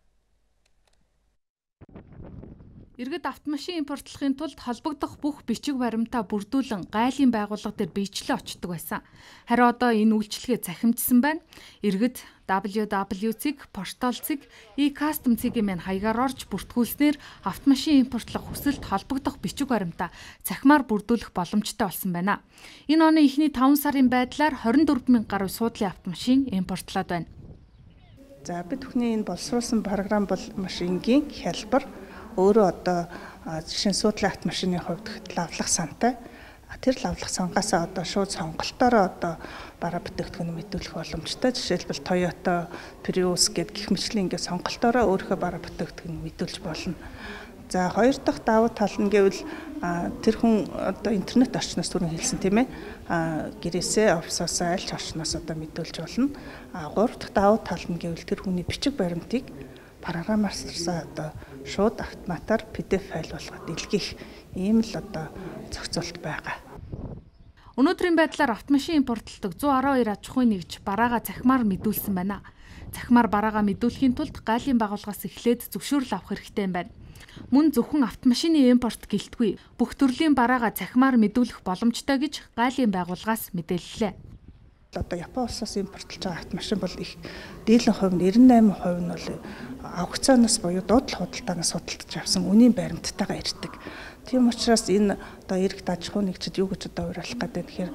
Иргэд автомашин импортлохын тулд холбогдох бүх бичиг баримтаа бүрдүүлэн гайлын байгууллага дээр биечлээ очдог байсан. Харин одоо энэ үйлчилгээ захимжсан байна. Иргэд дабл ю дабл ю цэг, портал цэг, e-custom цэгийн мэн хаягаар орж бүртгүүлснээр автомашин импортлох хүсэлт холбогдох бичиг баримтаа цахимаар бүрдүүлэх боломжтой болсон байна. Энэ оны эхний five сарын байдлаар twenty-four thousand гаруй суудлын автомашин импортлоод байна. За бид бүхний энэ боловсруулсан програм бол маш энгийн, хялбар, өөрөө одоо жишээ нь суудлын автомашины хувьд лавлах сантай. Тэр лавлах сангаасаа одоо шууд сонголтоороо одоо бараа бүтээгдэхүүн мэдүүлэх боломжтой. Жишээлбэл Toyota, Prius гэд гэх мэтлийн ингээд сонголтоороо өөрийнхөө бараа бүтээгдэхүүн мэдүүлж болно. За хоёр дахь давуу тал нь гэвэл тэр хүн одоо интернет орчноос түрүүн хэлсэн тийм ээ. Гэрээсээ офисоосоо аль ч орчноос одоо мэдүүлж болно. Гурав дахь давуу тал нь гэвэл тэр хүний бичиг баримтыг програмаарсаа одоо шууд автоматар пи ди эф файл болгоод илгээх ийм л одоо зохицуулт байгаа. Өнөөдрийн байдлаар автомашин импортлдог one twelve аж ахуй нэгж бараагаа захимаар мэдүүлсэн байна. Захимаар бараагаа мэдүүлэхийн тулд гайлын байгууллагаас эхлээд зөвшөөрөл авах хэрэгтэй юм байна. Мөн зөвхөн автомашины импорт гэлтгүй бүх төрлийн бараагаа захимаар мэдүүлэх боломжтой гэж гайлын байгууллагаас мэдээллээ. Одоо Япон улсаас импортлж байгаа автомашин бол их дийлэн хувь нь девяносто восемь процент нь бол аукционоос буюу дуудлага худалдаанаас судалдаж авсан үнийн баримттайгаа ирдэг. Тийм учраас энэ одоо эрэгт аж ахуй нэгжид юу гэж одоо уриалах гэдэг тэгэхээр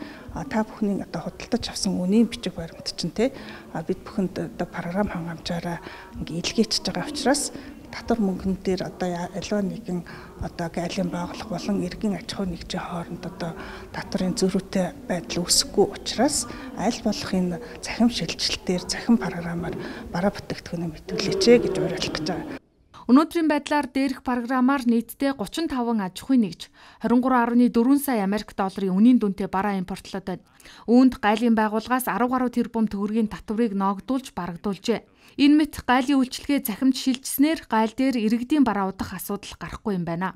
та бүхний одоо худалдаж авсан үнийн бичиг баримт чинь те бид бүхэнд одоо програм хангамжаараа ингээ илгээчихэж байгаа учраас татвар мөнгөн дээр одоо аливаа нэгэн одоо гайлын байгууллага болон иргэн аж ахуй нэгжийн хооронд одоо татварын зөрүүтэй байдал үүсэхгүй учраас аль болох энэ цахим шилжилтээр цахим програмаар бараа бүтээгдэхүүнээ мэдүүлээч гэж уриалах гэж байгаа. Өнөөдрийн байдлаар дээрх програмаар нийтдээ гучин таван аж ахуй нэгж двадцать три дөрвөн дөрвөн сая Америк долларын үнийн дүнтэй бараа импортлоод байна. Үүнд гайлын байгууллагаас арван гаруй тэрбум төгрөгийн татварыг ногдуулж барагдуулжээ. Энэ мэт гайлын үйлчилгээ захимж шилжснээр гайл дээр иргэдийн бараа удах асуудал гарахгүй юм байна.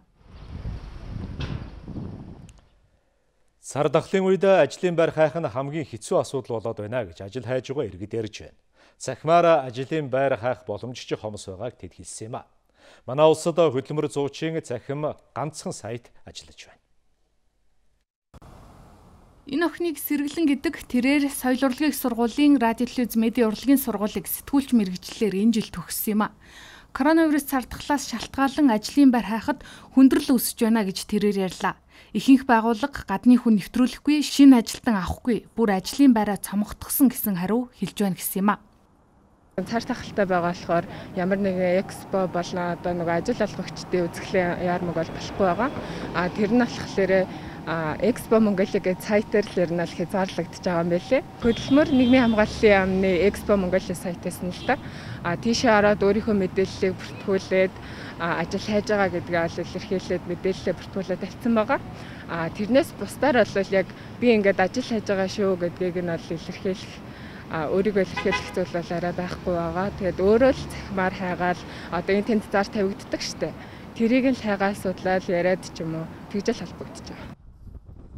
Сар дахлын үед ажлын байр хайх нь хамгийн хэцүү асуудал болоод байна гэж ажил хайж байгаа иргэд ярьж байна. Цахимаар ажлын байр хайх боломж ч хомос байгааг тэд хэлсэн юм а. Манай улсад хөдөлмөр зуучийн захим ганцхан сайт ажиллаж байна. Энэ охиныг Сэргэлэн гэдэг тэрээр соёл урлагийн сургуулийн радио телевиз медиа урлагийн сургуулийг сэтгүүлч мэргэжлэлээр энэ жил төгссөн юм а. Коронавирус цардахлаас шалтгаалan ажлын байр хайхад хүндрэл үүсэж байна гэж тэрээр ярьлаа. Ихэнх байгууллага гадны хүн нэвтрүүлэхгүй, шинэ ажилтан авахгүй, бүр ажлын байраа цомготгосон гэсэн хариу хэлж байна гэсэн юм а. Цар тахалтай байгаа болохоор ямар нэгэн экспо болон одоо нэг ажил олгогчдын үзэсгэлэн яармаг бол болохгүй байгаа. А тэр нь болохоор Экспо Монголиа гэж сайтаар л ер нь л хязгаарлагдчихж байгаа юм байлээ. Хөдөлмөр нийгмийн хамгааллын яамны Экспо Монголиа сайтаас нь л та. А тийшээ ороод өөрийнхөө мэдээллийг бүртгүүлээд ажил хайж байгаа гэдгээ ол илэрхийлээд мэдээлэлээ бүртгүүлээд тавьсан байгаа. А тэрнээс бусдаар бол яг би ингээд ажил хайж байгаа шүү гэдгийг нь ол илэрхийлэх өөрийгөө илэрхийлэх зүйл бол арай байхгүй байгаа. Тэгээд өөрөө л захимаар хайгаал одоо энэ тэнд зар тавигддаг штэ. Тэрийг л хайгаал судлаад яриад ч юм уу тэгжэл холбогдож байгаа.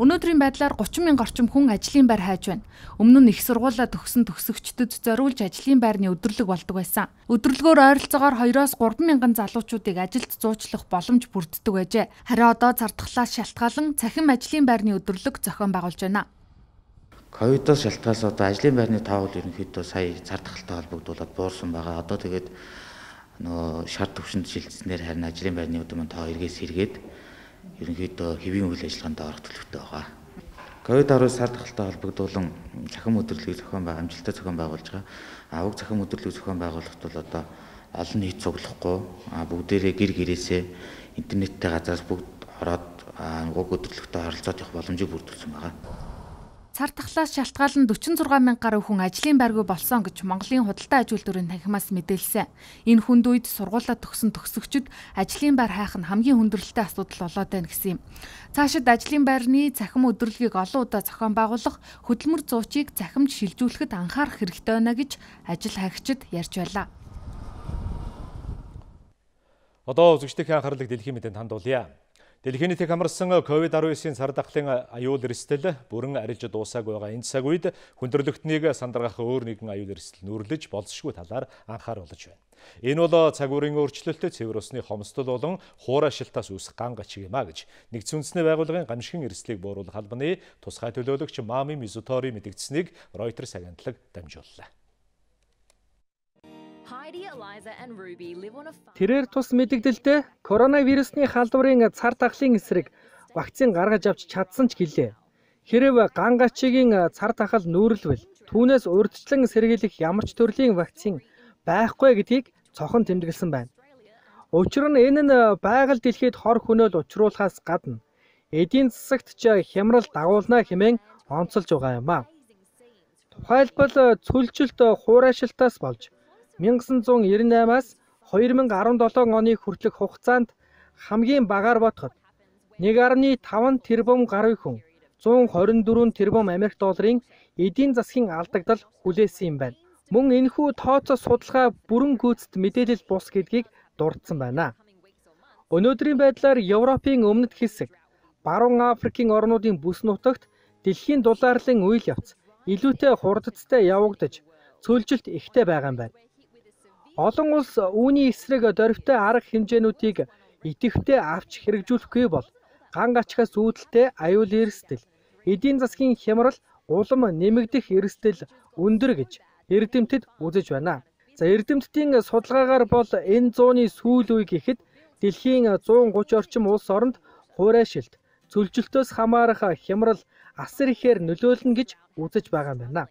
Өнөөдрийн байдлаар гучин мянган орчим хүн ажлын байр хайж байна. Өмнө нь их сургуулаа төгсөн төгсөгчдөд зориулж ажлын байрны өдөрлөг болдог байсан. Өдөрлөгөөр ойролцоогоор двоёроос гурван мянган залуучуудыг ажилд зуучлах боломж бүрддэг байжээ. Харин одоо зардахлаас шалтгаалan цахим ажлын байрны өдөрлөг зохион байгуулж байна. Ковидоос шалтгаалж одоо ажлын байрны тоо бол ерөнхийдөө сая цардахалтай холбогдуулаад буурсан байгаа. Одоо тэгээд нөө шар төвшөнд шилжснээр харин ажлын байрны өдөр тоо эргээс сэргээд ерөнхийдөө хэвийн үйл ажиллагаанд орох төлөвтэй байгаа. ковид дөрвөн цардахалтай холбогдуулан цахим өдөрлөгийг зохион байгуулж, амжилттай зохион байгуулж байгаа. А уг цахим өдөрлөгийг зохион байгуулахт бол одоо олон нийт цуглахгүй бүгдээрээ гэр гэрээсээ интернеттэй газраас бүгд ороод уг өдөрлөгтөө харилцаад явах боломжийг бүрдүүлсэн байгаа. Цардахлаас шалтгаалan дөрвөн зургаан мянга гаруй хүн ажлын байргүй болсон гэж Монголын худалдаа аж үйлдвэрийн танхимаас мэдээлсэн. Энэ хүнд үед сургуулаа төгсөн төгсөгчд ажлын байр хайх нь хамгийн хүндрэлтэй асуудал болоод байна гэсэн юм. Цаашид ажлын байрны цахим өдөрлөгийг олон удаа зохион байгуулах, хөдөлмөр зуучийг захимж шилжүүлэхэд анхаарах хэрэгтэй байна гэж ажил хайгчид ярьж байлаа. Одоо үзэгчдийн анхаарлыг дэлхийн мэдээнд хандуулъя. Дэлхийн нийтийг хамарсан ковид дөрвөн сар дахлын аюул эрсдэл бүрэн арилж дуусаагүй байгаа энэ цаг үед хүндрэлтнийг сандаргах өөр нэгэн аюул эрсдэл нүрлэж болзошгүй талаар анхааруулж байна. Энэ бол цаг үеийн өөрчлөлтөд цэвэр усны хомсдол болон хуурай шилтаас үүсэх ган гачиг юм а гэж нэгдсэн үндэсний байгууллагын гамшигын эрсдлийг бууруулах албаны тусгай төлөөлөгч Мами Мизутори мэдгдсэнийг Reuters агентлаг дамжууллаа. Тэрээр тус мэдэгдэлтэй коронавирусны халдварын цар тахлын эсрэг вакцин гаргаж авч чадсан ч гэлээ. Хэрэг ган гачигийн цар тахал нүүрлвэл түүнээс урьдчилан сэргийлэх ямар ч төрлийн вакцин байхгүй гэдгийг цохон тэмдэглэсэн байна. Учир нь энэ нь байгаль дэлхийд хор хөнөөл учруулахаас гадна эдийн засагт ч хямрал дагуулна хэмээн онцолж байгаа юм а. Тухайлбал цөлжилт хуурай шилтаас болж 천구백구십팔 аас две тысячи десятseven оны хүртэлх хугацаанд хамгийн багаар бодоход нэг нугаас таван тэрбум гаруй хүн one hundred twenty-four тэрбум Америк долларын эдийн засгийн алдагдал хүлээсэн юм байна. Мөн энэхүү тооцоо судалгаа бүрэн гүйцэд мэдээлэл бус гэдгийг дурдсан байна. Өнөөдрийн байдлаар Европын өмнөд хэсэг, баруун Африкийн орнуудын бүс нутагт дэлхийн дулаарлын үйл явц илүүтэй хурдцтай явагдаж цөлжилт ихтэй байгаа юм байна. Олон улс үүний эсрэг дөрвтэй арга хэмжээнүүдийг идэвхтэй авч хэрэгжүүлэхгүй бол ган гачхаас үүдэлтэй аюул эрсдэл, эдийн засгийн хямрал улам нэмэгдэх эрсдэл өндөр гэж эрдэмтэд үзэж байна. За эрдэмтдийн судалгаагаар бол энэ зууны сүүл үе гэхэд дэлхийн зуун гуч орчим улс оронд хуурайшилт, цөлжилтөөс хамаарах хямрал асар ихээр нөлөөлнө гэж үзэж байгаа юм байна.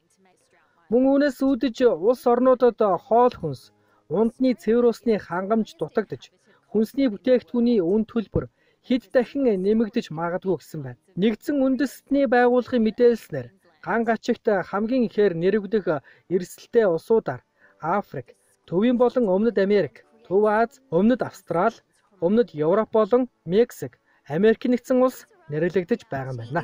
Мөн үүнээс үүдэж улс орнуудад хоол хүнс, ундны цэвэр усны хангамж дутагдж, хүнсний бүтээгдэхүүний үн төлбөр хэд дахин нэмэгдэж магадгүй гэсэн байна. Нэгдсэн үндэстний байгууллагын мэдээлснээр ган гачигт хамгийн ихээр нэрвдэх эрсдэлтэй улсуудаар Африк, Төвийн болон Өмнөд Америк, Төв Аз, Өмнөд Австрали, Өмнөд Европ болон Мексик, Америк нэгдсэн улс нэрлэгдэж байгаа юм байна.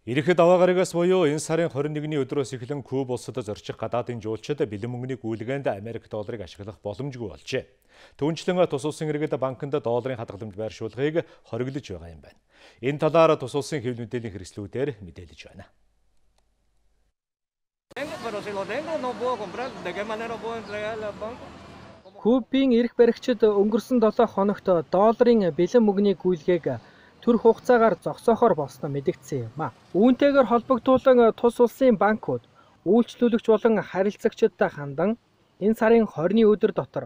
Ирэхэд даваа гарагаас буюу энэ сарын хорин нэгний өдрөөс эхлэн Куб улсад зорчих гадаадын жуулчид бэлэн мөнгөний гүйлгээнд Америк долларыг ашиглах боломжгүй болжээ. Түүнчлэн тус улсын иргэд банкнд долларын хадгаламж байршуулгыг хориглож байгаа юм байна. Энэ талаар тус улсын хэвлэл мэдээллийн хэрэгслүүдээр мэдээлж байна. Кубын эрх баригчид өнгөрсөн долоо хоногт долларын бэлэн мөнгөний гүйлгээг төр хугацаагаар зогсоохоор болсноо мэдэгдсэн юм а. Үүнтэйгээр холбогдуулан тус улсын банкуд үйлчлүүлэгч болон харилцагчдтай хандан энэ сарын хорины өдөр дотор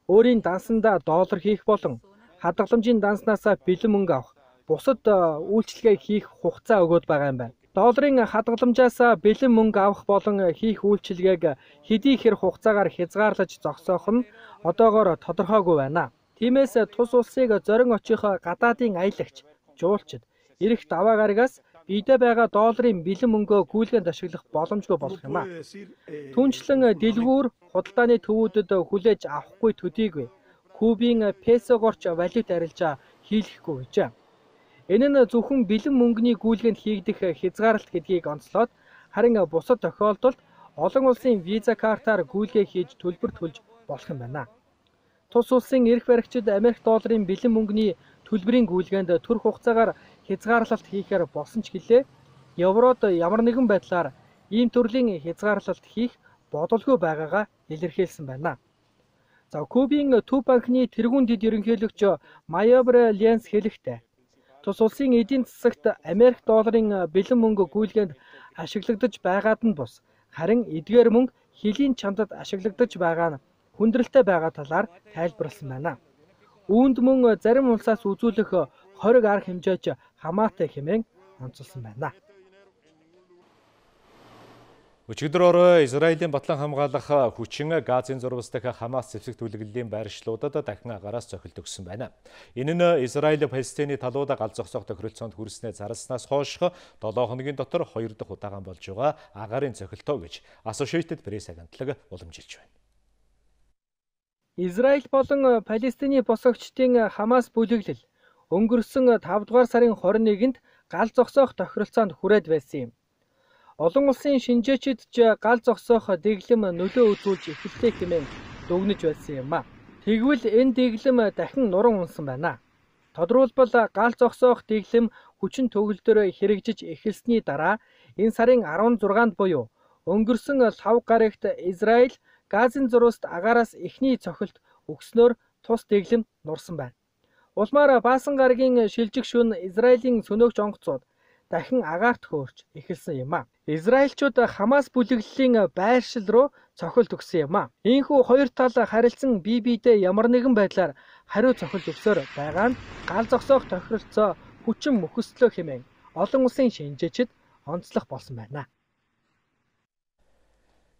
өөрийн дансандаа доллар хийх болон хадгаламжийн данснаас бэлэн мөнгө авах бусад үйлчлэгээ хийх хугацаа өгөөд байгаа юм байна. Долларын хадгаламжаас бэлэн мөнгө авах болон хийх үйлчилгээг хэдий хэр хугацаагаар хязгаарлаж зогсоох нь одоогоор тодорхойгүй байна. Тиймээс тус улсыг зорин очих гадаадын аялагч, жуулчид эрх даваа гарагаас биедээ байгаа долларын бэлэн мөнгөө гүйлгээнд ашиглах боломжгүй болох юм а. Түүнчлэн дэлгүүр худалдааны төвүүдэд хүлээж авахгүй төдийгүй Кубын песогорч валют арилжаа хийлгэхгүй гэжээ. Энэ нь зөвхөн бэлэн мөнгөний гүйлгээнд хийгдэх хязгаарлалт гэдгийг онцлоод харин бусад тохиолдолд олон улсын виза картаар гүйлгээ хийж төлбөр төлж болох юм байна. Тус улсын эрх баригчид Америк долларын бэлэн мөнгөний төлбөрийн гүйлгээнд төр хугацаагаар хязгаарлалт хийхээр болсон ч гэлээ Еврод ямар нэгэн байдлаар ийм төрлийн хязгаарлалт хийх бодолгүй байгаагаа илэрхийлсэн байна. За Кубын төв банкны тэргуун дэд ерөнхийлөгч Майобре Ленс хэлэхдээ тус улсын эдийн засагт Америк долларын бэлэн мөнгө гүйлгээнд ашиглагдаж байгаад нь бус харин эдгээр мөнгө хилийн чандад ашиглагдаж байгаа нь хүндрэлтэй байгаа талаар тайлбарласан байна. Үүнд мөн зарим улсаас үзүүлэх хориг арга хэмжээч хамаатай хэмээн онцолсон байна. Өчигдөр орой Израилийн батлан хамгаалах хүчин Газын зурвас дахь Хамас зэвсэг төлөвлөлийн байршлуудад дахин агараас цохилт өгсөн байна. Энэ нь Израиль Палестины талууд гал зогсоох тохиролцоонд хүрснээ зарлснаас хойш долоо хоногийн дотор хоёр дахь удаан болж байгаа агаарын цохилтоо гэж Associated Press агентлаг уламжилж байна. Израиль болон Палестины босгогчдын Хамас бүлэглэл өнгөрсөн тавд дугаар сарын хорин нэгэнд гал зогсоох тохиролцоонд хүрээд байсан юм. Олон улсын шинжээчид ч гал зогсоох дэглэм нөлөө үзүүлж эхэллээ хэмээн дүгнэж байсан юм а. Тэгвэл энэ дэглэм дахин нуран унсан байна. Тодорхойлбол гал зогсоох дэглэм хүчин төгөлдөр хэрэгжиж эхэлсний дараа энэ сарын арван зургаанд буюу өнгөрсөн лав гарагт Израиль Газын зурваст агаараас эхний цохилт өгснөөр тус дэглэм нурсан байна. Улмаар Баасан гарагийн шилжих шөнө Израилийн сөнөөгч онгоцууд дахин агаарт хөөрч эхэлсэн юм а. Израильчууд Хамас бүлэглэлийн байршил руу цохилт өгсөн юм а. Ийхүү хоёр тал харилцан бие биедээ ямар нэгэн байдлаар хариу цохилт өгсөөр байгаа нь гал зогсоох тохиролцоо хүчин мөхөслөө хэмээн олон улсын шинжээчид онцлох болсон байна.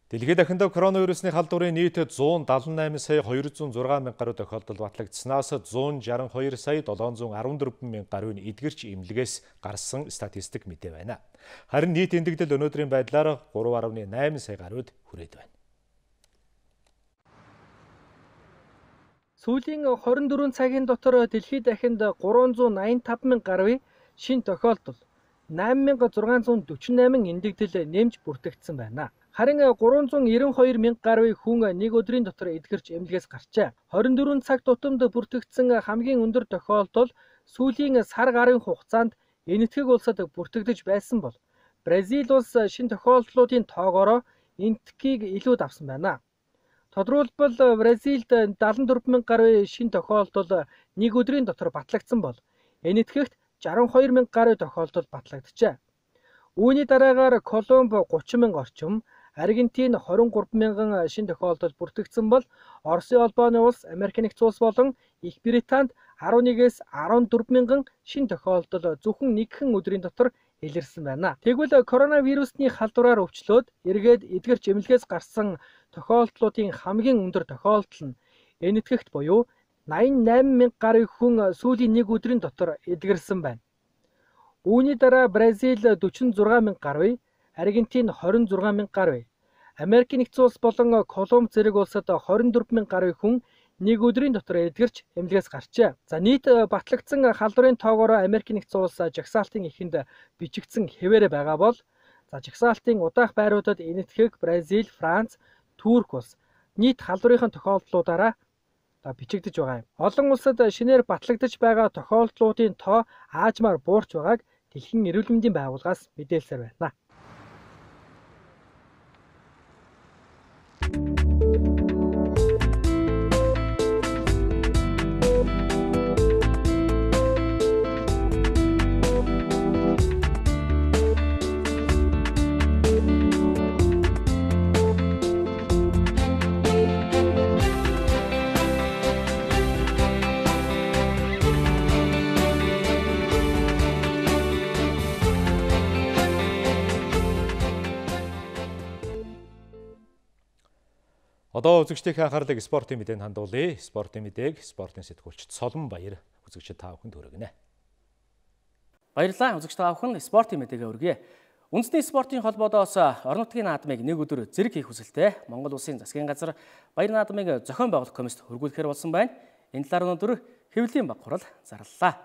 Дэлхийд дахинд коронавирусны халдварын нийт зуун далан найман сая хоёр зуун зургаан мянга гаруй тохиолдол батлагдсанаас зуун шаран хоёр сая долоон зуун арван дөрвөн мянга гаруйн эдгэрч эмнэлгээс гарсан статистик мэдээ байна. Харин нийт эндэгдэл өнөөдрийн байдлаар гурван гаруй найман сая гаруйд хүрээд байна. Сүүлийн хорин дөрвөн цагийн дотор дэлхийд дахинд гурван зуун найман таван мянга гаруй шин тохиолдол, найман мянга зургаан зуун дөрвөн восемь эндэгдэл нэмж бүртгэгдсэн байна. Харин гурван зуун девяносто хоёр мянга гаруй хүн нэг өдрийн дотор эдгэрч эмнэлгээс гарчээ. хорин дөрвөн цаг тутамд бүртгэгдсэн хамгийн өндөр тохиолдол сүүлийн сар гарын хугацаанд энэтхэг улсад бүртгэгдэж байсан бол Бразил улс шин тохиолдлуудын тоогоороо энэтхгийг илүүд авсан байна. Тодорхойлбол Бразилд дагалан дөрвөн мянга гаруй шин тохиолдол нэг өдрийн дотор батлагдсан бол энэтхэгт жаран хоёр мянга гаруй тохиолдол батлагджээ. Үүний дараагаар Колумб гучин мянга орчим, Аргентин двадцать три мянган шинэ тохиолдол бүртгэгдсэн бол Оросын холбооны улс, Америк нэгдсэн улс болон Их Британд eleven-ээс fourteen мянган шинэ тохиолдол зөвхөн нэгэн өдрийн дотор илэрсэн байна. Тэгвэл коронавирусны халдвараар өвчлөөд эргээд эдгэр жимлэгээс гарсан тохиолдлуудын хамгийн өндөр тохиолдол нь энэтхэгт буюу eighty-eight мянга гаруй хүн сүүлийн нэг өдрийн дотор эдгэрсэн байна. Үүний дараа Бразил forty-six мянга гаруй, Аргентин twenty-six мянга гаруй, Америк нэгдсэн улс болон Колумб зэрэг улсад twenty-four мянга гаруй хүн нэг өдрийн дотор эдгэрч эмнэлгээс гарчээ. За нийт батлагдсан халдварын тоогоор Америк нэгдсэн улс жагсаалтын эхэнд бичигдсэн хэвээрээ байгаа бол за жагсаалтын удаах байруудад энэтхэг Бразил, Франц, Турк улс нийт халдварын тохиолдлуудаараа бичигдэж байгаа юм. Олон улсад шинээр батлагдаж байгаа тохиолдлуудын тоо аажмаар буурч байгааг Дэлхийн эрүүл мэндийн байгууллагаас мэдээлсээр байна. Одоо үзэгчдийн анхаарлыг спортын мэдээнд хандуулъя. Спортын мэдээг спортын сэтгүүлч Солон Баяр үзэгчид та бүхэнд хүргэнэ. Баярлалаа үзэгч та бүхэн спортын мэдээгээ өргөе. Үндэсний спортын холбоодоос орон нутгийн наадмыг нэг өдөр зэрэг хийх хүсэлтэй Монгол Улсын засгийн газар баяр наадмыг зохион байгуулах комист хөргүүлэхээр болсон байна. Энэ талаар өнөөдөр хэвлэлийн баг хурал зарлалаа.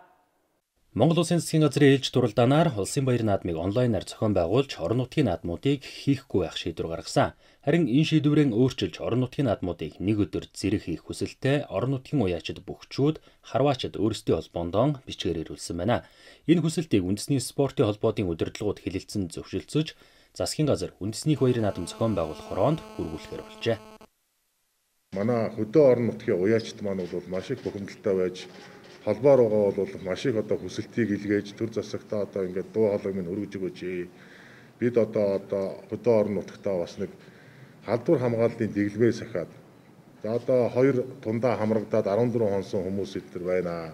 Монгол Улсын засгийн газрын ээлж дуралдаанаар улсын баяр наадмыг онлайнаар зохион байгуулж орон нутгийн наадмуудыг хийхгүй байх шийдвэр гаргасан. Харин энэ шийдвэрээ өөрчилж орон нутгийн наадмуудыг нэг өдөр зэрэг хийх хүсэлтэй орон нутгийн уяачид бөхчүүд, харваачид өөрсдийн холбоондоо бичгээр ирүүлсэн байна. Энэ хүсэлтийг үндэсний спортын холбоодын удирдлагууд хэлэлцэн зөвшөлдсөж, засгийн газар үндэсний баяр наадам зохион байгуулах хороонд хүргүүлэхээр болжээ. Манай хөдөө орон нутгийн уяачид маань бол маш их бухимдалтай байж холбоо руугаа бол маш их одоо хүсэлтийг илгээж төр засагтаа одоо ингээд дуу хоолойг минь өргөж өгөөч. Бид одоо одоо хөдөө орон нутгатаа бас нэг халдвар хамгааллын дэглэмээ сахиад. За одоо хоёр тундаа хамрагдаад fourteen хонсон хүмүүс эдгээр байна.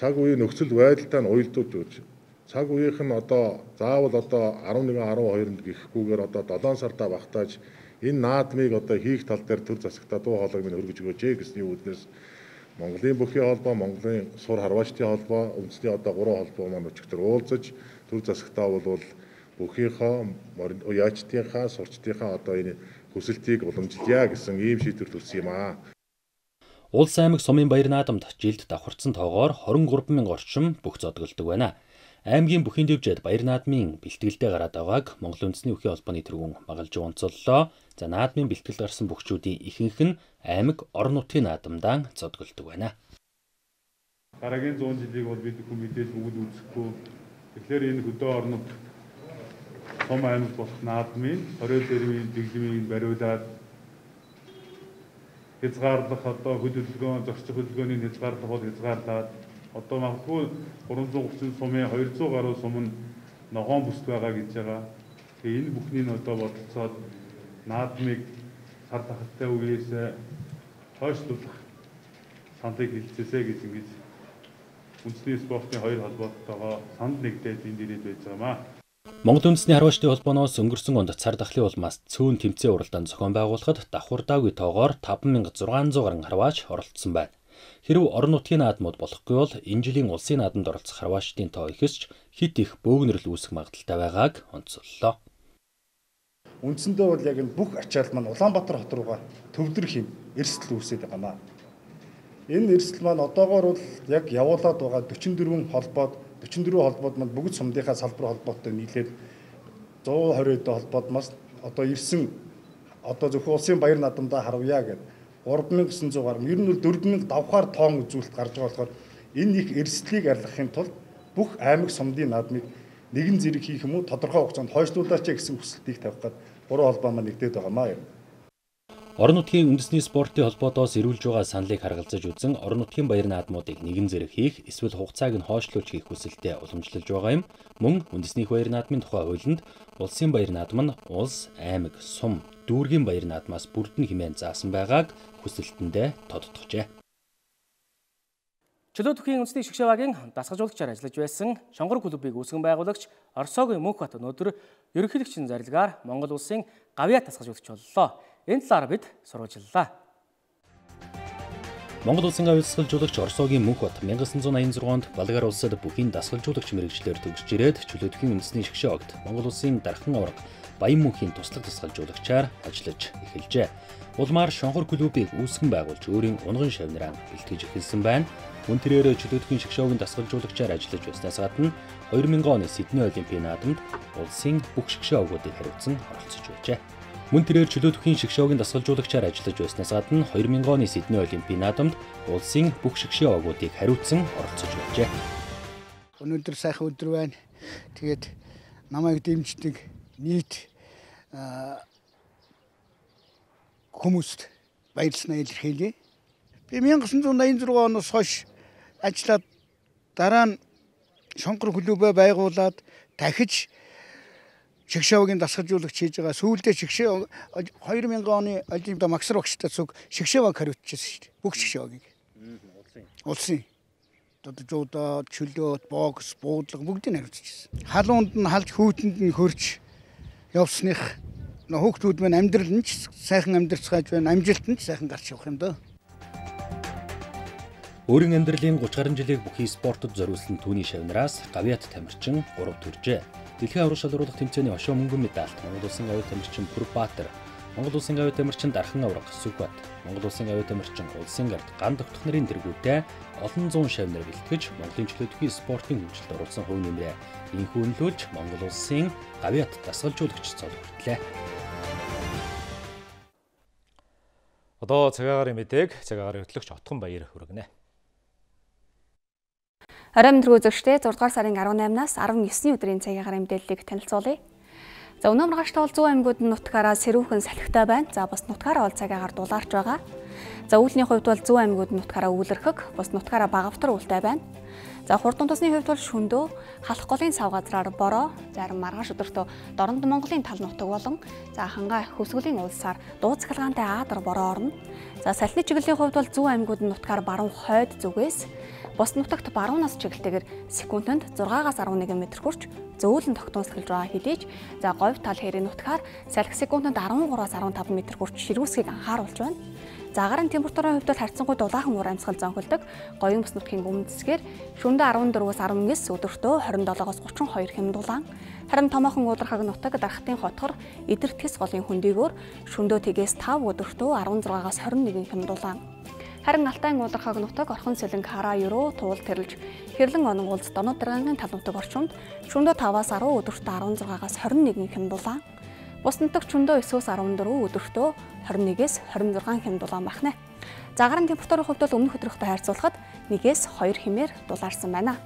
Цаг үеийн нөхцөл байдалтай нь уялдуулж өгч. Цаг үеийнх нь одоо заавал одоо eleven twelve-нд гихгүйгээр одоо seven сардаа багтааж энэ наадмыг одоо хийх тал дээр төр засагтаа дуу хоолойг минь өргөж өгөөч гэсний үүднээс Монголын бүхий холбоо, Монголын сур харваачдын холбоо, үндэсний одоо гурван холбоо маань өчигдөр уулзаж төр засагтаа бол бүхийнхаа уяачдынхаа, сурчдынхаа одоо энэ хүсэлтийг уламжилъя гэсэн ийм шийдвэр төрсөн юм аа. Улс аймаг сумын баяр наадамд жилд давхарцсан тоогоор twenty-three мянга орчим бүх зодголдог байна. Аймгийн бүхий дэвжээд баяр наадмын бэлтгэлдээ гараад байгааг Монгол үндэсний бүхий холбооны тэргүүн магалж онцоллоо. За наадмын бэлтгэл гарсан бүхчүүдийн ихэнх нь аймаг орон нутгийн наадамдаа зодголдог байна. Дараагийн one hundred жилийг бол бид хүн мэдээж бүгд үзэхгүй. Тэгэхээр энэ хөдөө орон нутг том аймаг болох наадмын орой дэрмийн дэглэмийг бариулаад хязгаарлах одоо хөдөлгөөн, зохицох хөдөлгөөний хязгаарлах бол хязгаарлаад одоо магадгүй three thirty сумын two hundred гаруй сум нь ногоон бүсд байгаа гэж байгаа. Тэгээ энэ бүхнийг одоо бодолцоод наадмыг сар тахалтай үеэс хойшлуулах саналыг хэлцээсэй гэж ингэж үндэсний спортын хоёр холбоотойгоо санал нэгдээд энд ирээд байж байгаамаа. Монгол үндэсний харваачдын холбооноос өнгөрсөн онд цар тахлын улмаас цөөн тэмцээн уралдаанд зохион байгуулахад давхурдаагүй тоогоор five thousand six hundred гаруй харваач оролцсон байна. Хэрв орон нутгийн наадмууд болохгүй бол энэ жилийн улсын наадамд оролцох харваачдын тоо ихсэж хит их бөөгнөрл үүсэх магадaltaй байгааг онцоллоо. Үндсэндээ бол яг энэ бүх ачаал маань Улаанбаатар хот руугаа төвлөрөх юм эрсдэл үүсээд байгаамаа. Энэ эрсдэл маань одоогоор бол яг явуулаад байгаа forty-four холбоод forty-four холбоод маань бүгд сумдынхаа салбар холбоотой нийлээд one twenty холбоод маш одоо ирсэн одоо зөвхөн улсын баяр наадамдаа харавъя гэдэг three thousand nine hundred гаруй ер нь бол four thousand давхаар тоон үзүүлэлт гарч байгаа болохоор энэ их эрсдлийг арилгахын тулд бүх аймаг сумдын наадмыг нэгэн зэрэг хийх юм уу тодорхой хугацаанд хойшлуулаач гэсэн хүсэлтийг тавих гээд гурван холбоо маань нэгдээд байгаамаа юм. Орон нутгийн үндэсний спортын холбоотоос ирүүлж байгаа саналыг харгалзаж үзэн орон нутгийн баяр наадмуудыг нэгэн зэрэг хийх эсвэл хугацааг нь хойшлуулж хийх хүсэлтэд уламжлалж байгаа юм. Мөн үндэсний баяр наадмын тухай хуулинд улсын баяр наадам нь улс, аймаг, сум, дүүргийн баяр наадмаас бүрдэн хэмээн заасан байгааг хүсэлтэндээ тодтогчээ. Чөлөөтөхийн үндэсний шгшээваагийн дасгалжуулагчаар ажиллаж байсан Шонгор клубыг үүсгэн байгуулагч Оросогийн Мөнхбат өнөөдөр ерөнхийлөгчийн зарилгаар Монгол улсын гавьяа дасгалжуулагч боллоо. Энэ талаар бид сурвалжлалаа. Монгол улсын гавьяа дасгалжуулагч Оросогийн Мөнхбат 천구 аян зургаанд Болгар улсад бүхий дасгалжуулагч мэргэжлэр төгсөж ирээд чөлөөтөхийн үндэсний шгшээваагт Монгол улсын дархан аварга Баян мөнхийн туслах дасгалжуулагчаар ажиллаж эхэлжээ. Улмаар Шонгор клубыг үүсгэн байгуулж өөрийн унган шавнараа бэлтгэж эхэлсэн байна. Мөн тэрээр чөлөөтөхийн шгшээваагийн дасгалжуулагчаар ажиллаж байснаас гадна хоёр мянган оны Сидней Олимпийн наадамд улсын бүх шгшээваагуудыг хариуцсан оролцож байжээ. Мөн тэрээр чөлөөтөхийн шгшээваагийн дасгалжуулагчаар ажиллаж байснаас гадна хоёр мянган оны Сидней Олимпийн наадамд улсын бүх шгшээваагуудыг хариуцсан оролцож байжээ. Өнөөдөр сайхан өдөр байна. Тэгээд намайг дэмждэг нийт хүмүүст баярлалаа илэрхийлье. Би 천구 аян зургаан оноос хойш ажиллаад дараа нь Шонгор клубээ байгуулад дахиж шгшээваагийн дасгалжуулагч хийж байгаа. Сүүлдээ шгшээ хоёр мянган оны Олимпиад Максар багштай цуг шгшээвааг хариуцчихсан шүү дээ. Бүх шгшээваагийг. Улсын. Додожуудаа, чөлөөт, бокс, буудлага бүгдийг хариуцчихсан. Халуунд нь халж хүүтэнд нь хөрж явсных хүүхдүүд маань амьдрал нь ч сайхан амьдарцгааж байна. Амжилт нь ч сайхан гарч явах юм даа. Өөрийн амьдралын гуч гаруй жилийг бүхий спортод зориулсан түүний шавнараас гавьяат тамирчин гурав төржээ. Дэлхийн аврах шалруулах тэмцээний хошоо мөнгөн медальт Монгол улсын гавьяа тамирчин Пүрбаатар, Монгол улсын гавьяа тамирчин Дархан аврах Сүгбат, Монгол улсын гавьяа тамирчин Улсын гард ган тогтох нарын дэргүүтэй олон зуун шавнар бэлтгэж Монголын чөлөөтөхийн спортын хөгжилд оруулсан хувь нэмрээ инхүү өнлүүлж Монгол улсын гавьяат дасгалжуулагч цол хүртлээ. Одоо цагаагаар мэдээг цагаагаар хөтлөгч Отхон Баяр хүргэнэ. Оройн өдрөө үзэгчдээ зургаадугаар сарын арван наймнаас арван есний өдрийн цагаагаар мэдээллийг танилцуулъя. За өнөө маргааштай бол зүүн аймагуд нь нутгаараа сэрүүхэн салхитай байна. За бас нутгаараа бол цагаагаар дулаарч байгаа. За үүлний хувьд бол зүүн аймагуд нь нутгаараа үүлэрхэг, бас нутгаараа багавтар үүлтэй байна. За хурдан тосны хувьд бол шөндөө, халах голын сав газраар бороо, зарим маргааш өдөртөө Дорнод Монголын тал нутаг болон за хангаа Хөсгөлийн улсаар дуу цахилгаантай аадар бороо орно. За салхины чиглэлийн хувьд бол зүүн аймагуд нь нутгаар баруун хойд зүгээс бос нутагт баруунаас чиглэлтэйгээр секундэд зургаагаас арван нэгэн метр хүрч зөөлөн тогтмол сахилж байгаа хэдий ч за говь тал хэрийн нутгаар салхи секундэд арван гураас арван тав метр хүрч ширүүсгийг анхааруулж байна. За агаарын температурын хувьд бол харьцангуй дулаахан уур амьсгал зонхилдог. Гоён бус нутгийн өмнөд хэсгээр шөнөдөө арван дөрвөөс арван нис, өдөртөө хорин долоогоос гучин хоёр хэм дулаан. Харин томоохон уудрахаг нутаг дархтын хотхор эдэр тэс голын хөндийгөөр шөнөдөө тгээс тав, өдөртөө арван зургаагаас хорин нэгэн хэм дулаан. Харин Алтайн уудрахаг нутаг орхон сэлэнг хараа ерөө туул тэрлж хэрлэн онон улс Донод даргааны тал нутаг орчимд шөнөдөө таваас арав, өдөртөө арван зургаагаас хорин нэгэн хэм дулаан. Бус нутаг шөнөдөө есөөс арван дөрөв, өдөртөө хорин нэгээс хорин зургаан хэм дулаан багнэ. За агаарын температурын хувьд бол өмнөх өдрийнхтэй харьцуулахад нэгээс хоёр хэмээр дулаарсан байна.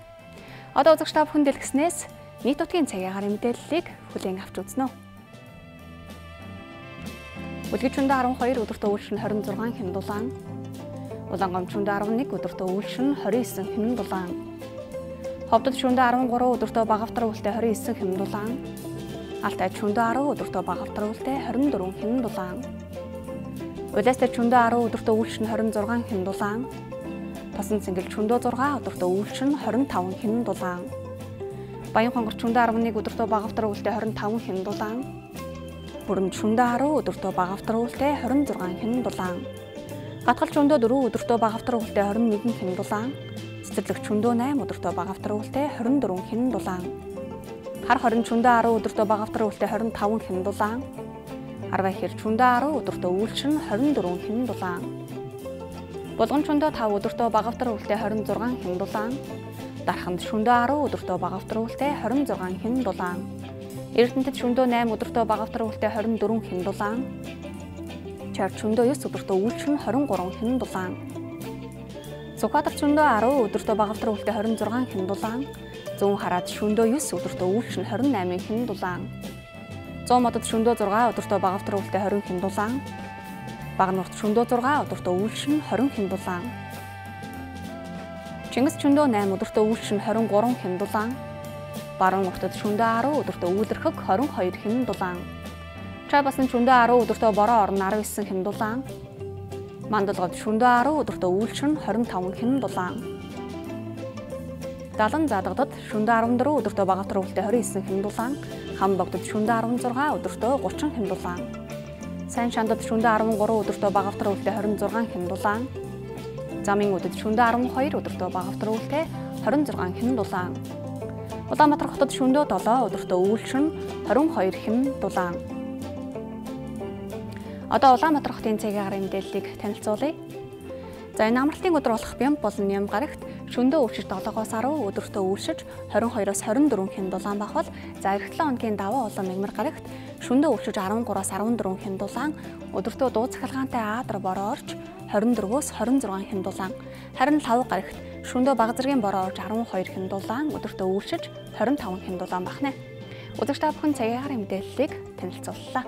Одоо үзэгч та бүхэн дэлгэснээс нийт нутгийн цагийн агаарын мэдээллийг хүлээн авч үзнэ. Үлгэж шөнөдөө арван хоёр, өдөртөө үйлшин хорин зургаан хэм дулаан. Улаангомд шөнөдөө арван нэг, өдөртөө үйлшин хорин девять хэм дулаан. Ховдод шөнөдөө арван гурав, өдөртөө багавтар үүлтэй хорин девять хэм дулаан. Алтай шөнөдөө арав, өдөртөө багавтар үүлтэй хорин дөрвөн хэм дулаан. Улаастай шөнөдөө арав, өдөртөө үйлшин хорин зургаан хэм дулаан. Тосон цэнгэл шөнөдөө зургаан, өдөртөө үйлшин хорин таван хэм дулаан. Баян хонгор шөнөдөө арван нэг, өдөртөө багавтар үүлтэй хорин таван хэм дулаан. Бүрэмд шөнөдөө арав, өдөртөө багавтар үүлтэй хорин зургаан хэм дулаан. Гатгал шөнөдөө дөрөв, өдөртөө багавтар үүлтэй хорин нэгэн хэм дулаан. Цэцэрлэг шөнөдөө найм, өдөртөө багавтар үүлтэй хорин дөрвөн хэм дулаан. Хар хорин шөнөдөө арав, өдөртөө багавтар үүлтэй хорин таван хэм дулаан. Арвай хэр шөнөдөө арав, өдөртөө үйлшин хорин дөрвөн хэм дулаан. Булган шөнөдөө тав, өдөртөө багавтар үүлтэй хорин зургаан хэм дулаан. Дарханд шөнөдөө арав, өдөртөө багавтар үүлтэй хорин зургаан хэм дулаан. Эрдэнэтэд шөнөдөө найм, өдөртөө багавтар үүлтэй хорин дөрвөн хэм дулаан. Чар шөнөдөө девять, өдөртөө үйлшин хорин гурван хэм дулаан. Цукадар шөнөдөө арав, өдөртөө багавтар үүлтэй хорин зургаан хэм дулаан. Зүүн хараад шөнөдөө девять, өдөртөө үйлшин хорин восемь хэм дулаан. Зүүн модод шөнөдөө зургаан, өдөртөө багавтар үүлтэй хорин хэм дулаан. Багнуурт шөнөдөө зургаан, өдөртөө үйлшин хорин хэм дулаан. Чингис шөнөдөө найм, өдөртөө үйлшин хорин гурван хэм дулаан. Баруун нуртад шөнөдөө арав, өдөртөө үйлэрхэг хорин хоёр хэм дулаан. Чабасан шөнөдөө арав, өдөртөө бороо орон арав эссэн хэм дулаан. Мандалгад шөнөдөө арав, өдөртөө үйлшин хорин таван хэм дулаан. Далан задагдад шөнөдөө арван дөрөв, өдөртөө багавтар өвөлтэй хорин эссэн хэм дулаан. Хамбогдод шөнөдөө арван зургаан, өдөртөө гурван хэм дулаан. Сайн шандад шөнөдөө арван гурав, өдөртөө багавтар өвөлтэй хорин зургаан хэм дулаан. Замын өдөд шөнөдөө арван хоёр, өдөртөө багавтар өвөлтэй хорин зургаан хэм дулаан. Улаанбаатар хотод шөнөдөө долоо, өдөртөө үйлшин хорин хоёр хэм дулаан. Одоо Улаанбаатар хотын цагийн агаарын мэдээллийг танилцуулъя. За энэ амралтын өдөр болох Бямб болон Нямгарагт шөнөдөө өвчж долоогоос арав, өдөртөө үйлшиж хорин хоёроос хорин дөрвөн хэм дулаан бахвал за эх долоо хоногийн даваа улаан Мягмар гарагт шөнөдөө өвчж арван гураас арван дөрвөн хэм дулаан, өдөртөө дуу цахилгаантай Аадар бороо орж хорин дөрвөөс хорин зургаан хэм дулаан. Харин лав гарагт шөнөдөө бага зэргийн бороо орж арван хоёр хэм дулаан, өдөртөө үйлшиж хорин таван хэм дулаан бахнэ. Үзэгч та бүхэн цагийн агаарын мэдээллийг танилцууллаа.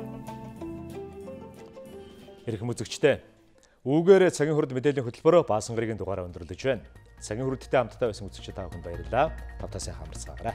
Ирэх үзэгчтэй. Үүгээр цагийн хурд мэдээллийн хөтөлбөр Баасан гарагийн дугаараа өндөрлөж байна. Цагийн хурдтай хамтдаа байсан үзэгчид та бүхэнд баярлалаа. Тавтаа сайхан амарцгаарай.